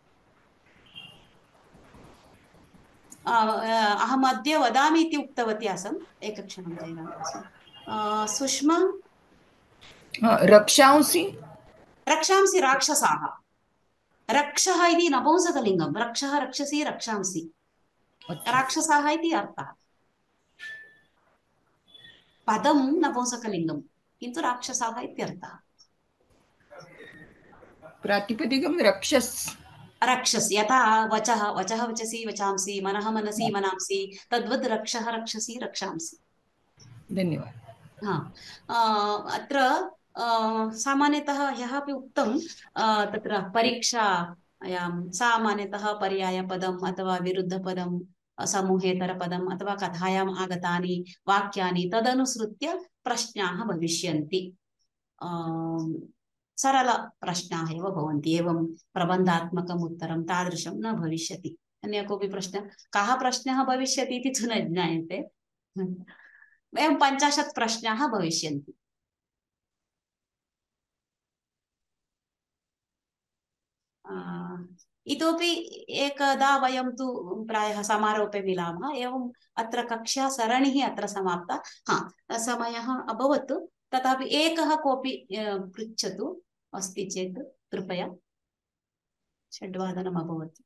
अहम् अद्य वदामि इति उक्तवती आसम्, एकक्षणं जयराम। सुष्मा रक्षांसि रक्षांसि राक्षसाः, रक्षः इति नपुंसकलिङ्गं, रक्षः रक्षसि रक्षांसि, राक्षसाः इति अर्थः। पदं नपुंसकलिङ्गं किन्तु राक्षसाः इत्यर्थः। प्रातिपदिकं रक्षस् रक्षस्, यथा वचः वचः वचसि वचांसि, मनः मनसि मनांसि, तद्वद् रक्षः रक्षसि रक्षांसि। धन्यवादः। अत्र सामान्यतः ह्यः अपि उक्तं, तत्र परीक्षायां सामान्यतः पर्यायपदम् अथवा विरुद्धपदं, समूहेतरपदम् अथवा कथायाम् आगतानि वाक्यानि तदनुसृत्य प्रश्नाः भविष्यन्ति। सरलप्रश्नाः एव भवन्ति, एवं प्रबन्धात्मकम् उत्तरं तादृशं न भविष्यति। अन्य कोऽपि प्रश्नः, कः प्रश्नः भविष्यति इति तु न ज्ञायते। एवं 50 प्रश्नाः भविष्यन्ति। इतोपि एकदा वयं तु प्रायः समारोपे मिलामः। एवम् अत्र कक्षा सरणिः अत्र समाप्ता। समयः अभवत्, तथापि एकः कोऽपि पृच्छतु अस्ति चेत् कृपया। 6:00 अभवत्।